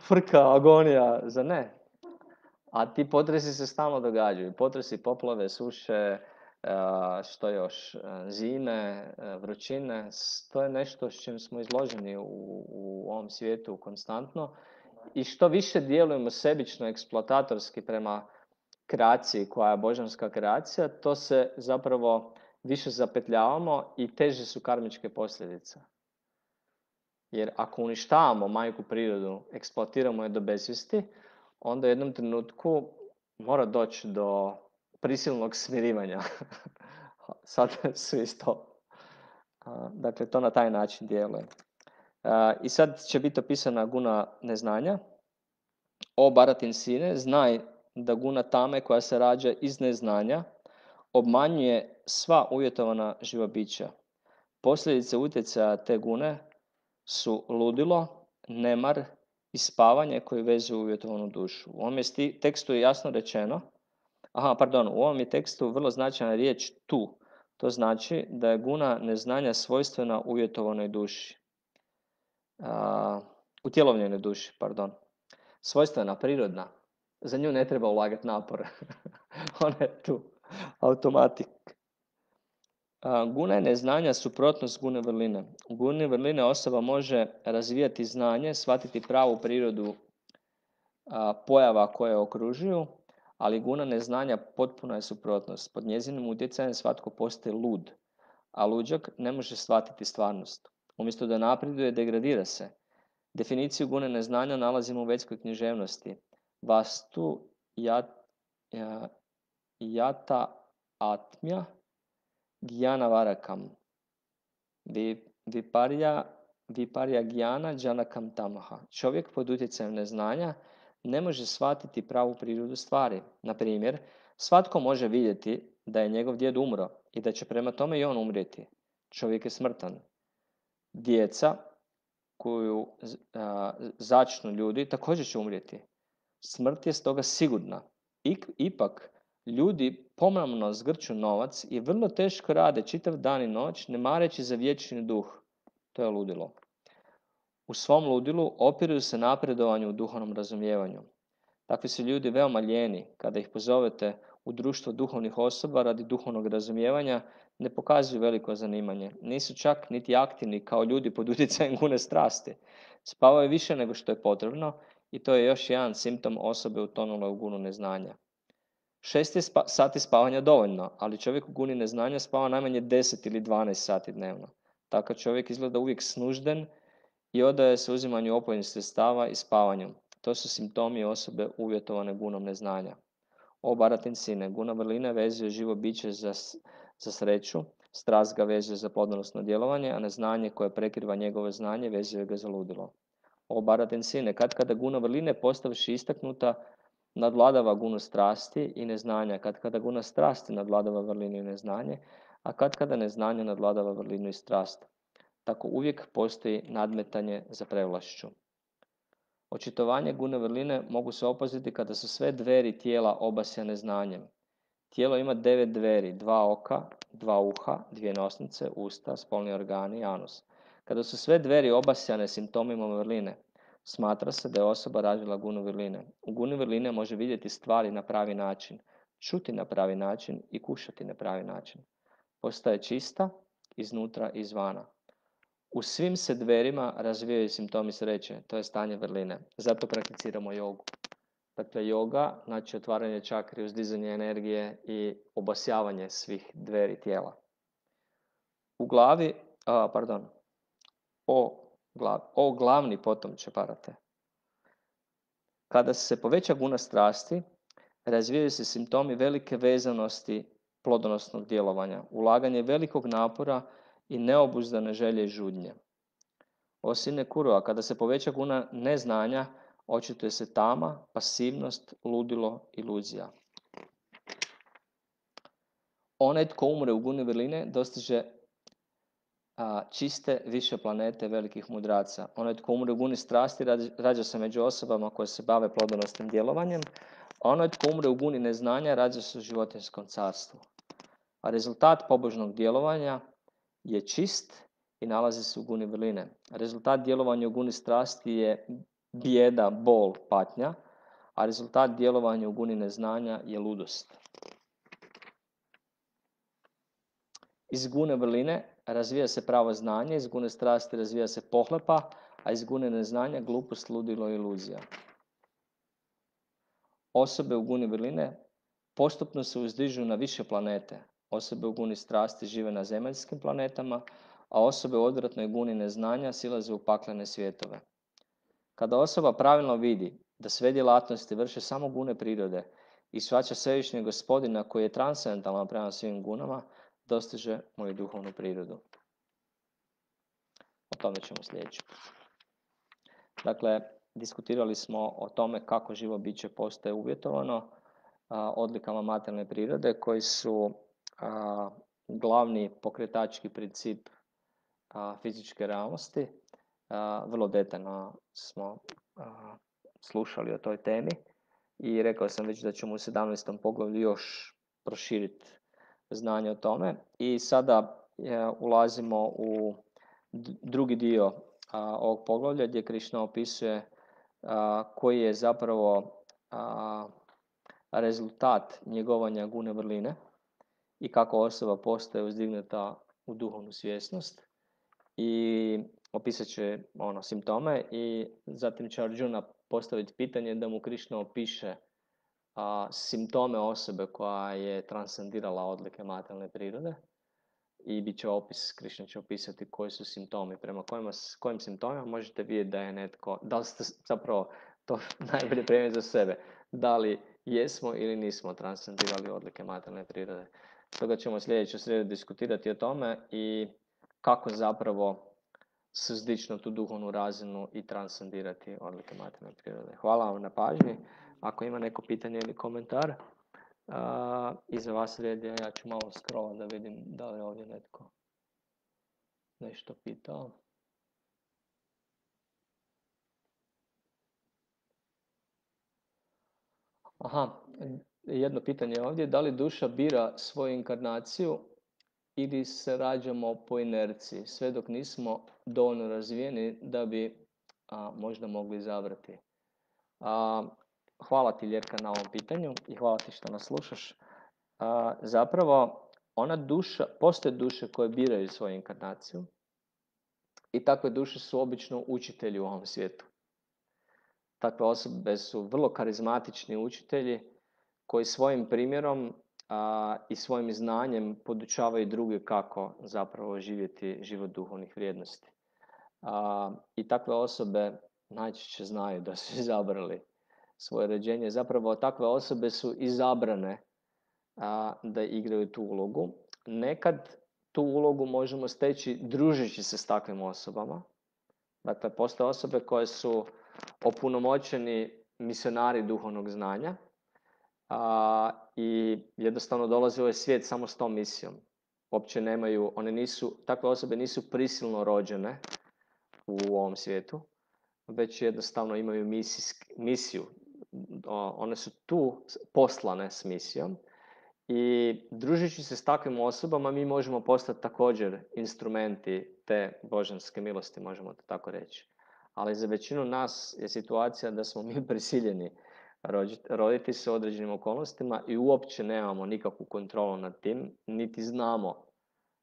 frka, agonija, za ne. A ti potresi se stalno događaju. Potresi, poplave, suše, što još, zime, vrućine, to je nešto s čim smo izloženi u ovom svijetu konstantno. I što više djelujemo sebično, eksploatatorski prema kreaciji koja je božanska kreacija, to se zapravo više zapetljavamo i teže su karmičke posljedice. Jer ako uništavamo majku prirodu, eksploatiramo je do besvijesti, onda u jednom trenutku mora doći do prisilnog smirivanja. Sad su isto. Dakle, to na taj način djeluje. I sad će biti opisana guna neznanja. O Bharatin sine, znaj da guna tame koja se rađa iz neznanja obmanjuje sva uvjetovana živa bića. Posljedice utjecaja te gune su ludilo, nemar i spavanje koji vezuju uvjetovanu dušu. U ovom je tekstu jasno rečeno, u ovom je tekstu vrlo značajna riječ tu. To znači da je guna neznanja svojstvena uvjetovanoj duši. Utjelovljenoj duši, svojstvena, prirodna. Za nju ne treba ulagati napor. Ona je tu. Automatik. Guna i neznanja suprotnost gune vrline. U guni vrline osoba može razvijati znanje, shvatiti pravu prirodu pojava koje je okružuju, ali guna neznanja potpuna je suprotnost. Pod njezinim utjecajem svatko postaje lud, a luđak ne može shvatiti stvarnost. Umjesto da napreduje, degradira se. Definiciju gune neznanja nalazimo u vedskoj književnosti. Vastu jata atmja Gyana varakam. Viparya gyana janakam tamaha. Čovjek pod utjecajem neznanja ne može shvatiti pravu prirodu stvari. Na primjer, svatko može vidjeti da je njegov djed umro i da će prema tome i on umrijeti. Čovjek je smrtan. Djeca koju začnu ljudi također će umrijeti. Smrt je stoga sigurna. Ipak, ljudi pomamno zgrću novac i vrlo teško rade čitav dan i noć, ne mareći za vječni duh. To je ludilo. U svom ludilu opiruju se napredovanju u duhovnom razumijevanju. Takvi su ljudi veoma lijeni. Kada ih pozovete u društvo duhovnih osoba radi duhovnog razumijevanja, ne pokazuju veliko zanimanje. Nisu čak niti aktivni kao ljudi pod utjecajem gune strasti. Spavaju više nego što je potrebno i to je još jedan simptom osobe utonule u gunu neznanja. 6 je sati spavanja dovoljno, ali čovjek u guni neznanja spava najmanje 10 ili 12 sati dnevno. Takav čovjek izgleda uvijek snužden i odaje se uzimanju opojnih sredstava i spavanju. To su simptomi osobe uvjetovane gunom neznanja. O baratin sine, guna vrline vezuje živo biće za sreću, strast ga vezuje za plodonosno djelovanje, a neznanje koje prekriva njegovo znanje vezuje ga za ludilo. O baratin sine, kada guna vrline postavši istaknuta, nadvladava gunu strasti i neznanja, kada guna strasti nadvladava vrlinu i neznanje, a kada neznanje nadvladava vrlinu i strast. Tako uvijek postoji nadmetanje za prevlašću. Očitovanje gune vrline mogu se opaziti kada su sve dveri tijela obasjane znanjem. Tijelo ima 9 dveri, 2 oka, 2 uha, 2 nosnice, usta, spolni organi i anus. Kada su sve dveri obasjane simptomima vrline, smatra se da je osoba razvila gunu vrline. U guni vrline može vidjeti stvari na pravi način, čuti na pravi način i kušati na pravi način. Postaje čista iznutra i izvana. U svim se dverima razvijaju simptomi sreće, to je stanje vrline. Zato prakticiramo jogu. Dakle, joga, znači otvaranje čakri, uzdizanje energije i obasjavanje svih dveri tijela. U glavi, o glavni potomče parate. Kada se poveća guna strasti, razvijaju se simptomi velike vezanosti plodonosnog djelovanja, ulaganje velikog napora i neobuzdane želje i žudnje. O sine kurua, kada se poveća guna neznanja, očituje se tama, pasivnost, ludilo, iluzija. Onaj tko umre u guni vrline dostiže čiste više planete velikih mudraca. Onaj tko umre u guni strasti rađa se među osobama koje se bave plodonosnim djelovanjem, a onaj tko umre u guni neznanja rađa se u životinjskom carstvu. A rezultat pobožnog djelovanja je čist i nalazi se u guni vrline. Rezultat djelovanja u guni strasti je bijeda, bol, patnja, a rezultat djelovanja u guni neznanja je ludost. Iz gune vrline razvija se pravo znanje, iz gune strasti razvija se pohlepa, a iz gune neznanja glupost, ludilo i iluzija. Osobe u guni vrline postupno se uzdižu na više planete. Osobe u guni strasti žive na zemaljskim planetama, a osobe u odvratnoj guni neznanja silaze u paklene svjetove. Kada osoba pravilno vidi da sve djelatnosti vrše samo gune prirode i shvaća svevišnjeg gospodina koji je transcendentalan prema svim gunama, dostiže moju duhovnu prirodu. O tome ćemo sljedeći. Dakle, diskutirali smo o tome kako živo biće postaje uvjetovano odlikama materijalne prirode koji su glavni pokretački princip fizičke realnosti. Vrlo detaljno smo slušali o toj temi i rekao sam već da ćemo u 17. poglavlju još proširiti znanje o tome. I sada ulazimo u drugi dio ovog poglavlja gdje Krišna opisuje koji je zapravo rezultat njegovanja gune vrline i kako osoba postaje uzdignuta u duhovnu svjesnost. I opisat će simptome i zatim će Arjuna postaviti pitanje da mu Krišna opiše simptome osobe koja je transcendirala odlike materijalne prirode i bit će opis, Krišna će opisati koji su simptomi, prema kojim simptomima možete vidjeti da je netko, da li ste zapravo to najbolje primjer za sebe, da li jesmo ili nismo transcendirali odlike materijalne prirode. Stoga ćemo sljedeću srijedu diskutirati o tome i kako zapravo suzdići na tu duhovnu razinu i transcendirati odlike materijalne prirode. Hvala vam na pažnji. Ako ima neko pitanje ili komentar, iza vas red je, ja ću malo scrollat da vidim da li je ovdje netko nešto pitao. Aha, jedno pitanje ovdje, da li duša bira svoju inkarnaciju ili se rađamo po inerciji, sve dok nismo dovoljno razvijeni da bi možda mogli izabrati. Hvala ti, Ljerka, na ovom pitanju i hvala ti što nas slušaš. Zapravo, postoje duše koje biraju svoju inkarnaciju i takve duše su obično učitelji u ovom svijetu. Takve osobe su vrlo karizmatični učitelji koji svojim primjerom i svojim znanjem podučavaju druge kako zapravo živjeti život duhovnih vrijednosti. I takve osobe najčešće znaju da su izabrali svoje rođenje. Zapravo takve osobe su izabrane da igraju tu ulogu. Nekad tu ulogu možemo steći družeći se s takvim osobama. Dakle, postoje osobe koje su opunomoćeni misionari duhovnog znanja i jednostavno dolaze u ovaj svijet samo s tom misijom. Uopće nemaju, takve osobe nisu prisilno rođene u ovom svijetu, već jednostavno imaju misiju. One su tu poslane s misijom i družeći se s takvim osobama mi možemo postati također instrumenti te božanske milosti, možemo to tako reći. Ali za većinu nas je situacija da smo mi prisiljeni roditi se u određenim okolnostima i uopće nemamo nikakvu kontrolu nad tim, niti znamo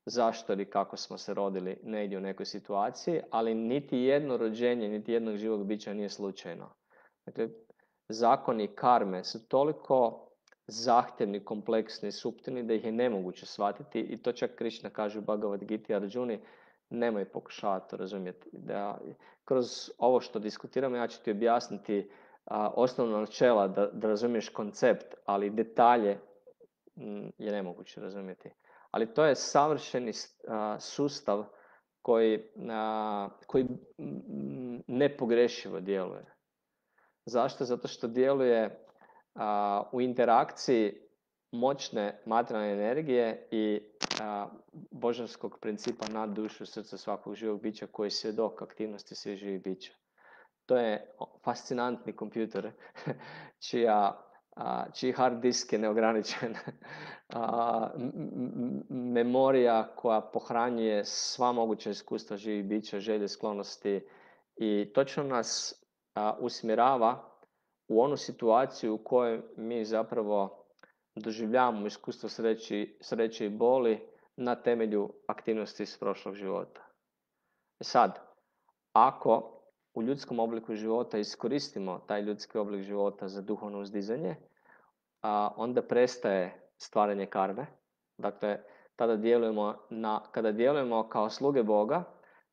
zašto ili kako smo se rodili negdje u nekoj situaciji, ali niti jedno rođenje, niti jednog živog bića nije slučajno. Dakle, zakoni karme su toliko zahtjevni, kompleksni, suptilni da ih je nemoguće shvatiti i to čak Krishna kaže u Bhagavad Gita Arjuni, nemoj pokušavati to razumjeti. Da, kroz ovo što diskutiramo ja ću ti objasniti osnovna načela da razumiješ koncept, ali detalje je nemoguće razumjeti. Ali to je savršeni sustav koji nepogrešivo djeluje. Zašto? Zato što djeluje u interakciji moćne materijalne energije i božanskog principa nad dušu srca svakog živog bića koji je svjedok aktivnosti svih živih bića. To je fascinantni kompjuter čiji hard disk je neograničen. Memorija koja pohranjuje sva moguća iskustva živih bića, želje, sklonosti i točno nas usmjerava u onu situaciju u kojoj mi zapravo doživljavamo iskustvo sreće i boli na temelju aktivnosti iz prošlog života. Sad, ako u ljudskom obliku života iskoristimo taj ljudski oblik života za duhovno uzdizanje, onda prestaje stvaranje karme. Dakle, kada djelujemo kao sluge Boga,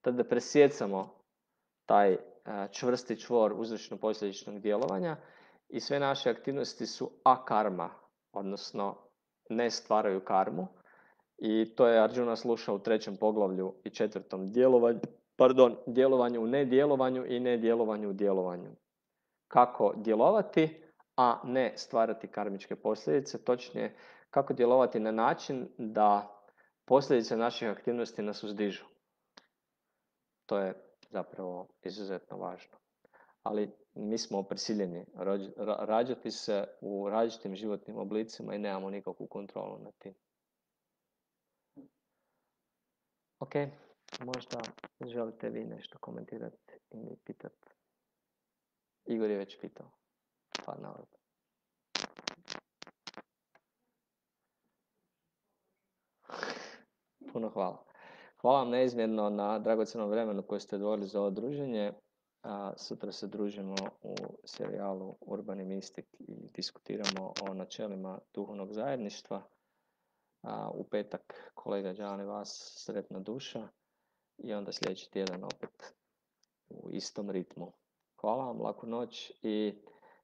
tada presjecamo taj čvrsti čvor uzročno-posljedičnog djelovanja i sve naše aktivnosti su akarma, odnosno ne stvaraju karmu. I to je Arjuna slušao u 3. poglavlju i 4. djelovanju u nedjelovanju i nedjelovanju u djelovanju. Kako djelovati, a ne stvarati karmičke posljedice, točnije kako djelovati na način da posljedice naših aktivnosti nas uzdižu. To je zapravo izuzetno važno. Ali mi smo prisiljeni rađati se u različitim životnim oblicima i nemamo nikakvu kontrolu nad tim. Ok, možda želite vi nešto komentirati i pitati. Igor je već pitao. Pa naravno. Puno hvala. Hvala vam neizmjerno na dragocjenom vremenu koje ste odvojili za ovo druženje. Sutra se družimo u serijalu Urbani mistik i diskutiramo o načelima duhovnog zajedništva. U petak kolega Đani vas, Sretna duša. I onda sljedeći tjedan opet u istom ritmu. Hvala vam, laku noć i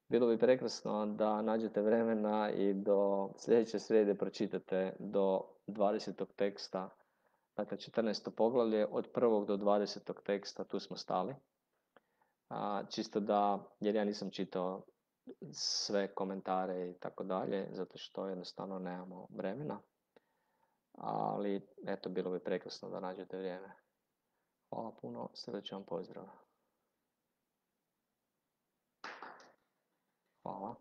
bilo bi prekrasno da nađete vremena i do sljedeće srijede pročitate do 20. teksta dakle 14. poglavlje, od 1. do 20. teksta, tu smo stali. Čisto da, jer ja nisam čitao sve komentare i tako dalje, zato što jednostavno nemamo vremena. Ali, eto, bilo bi prekrasno da nađete vrijeme. Hvala puno, srdačan pozdrav. Hvala.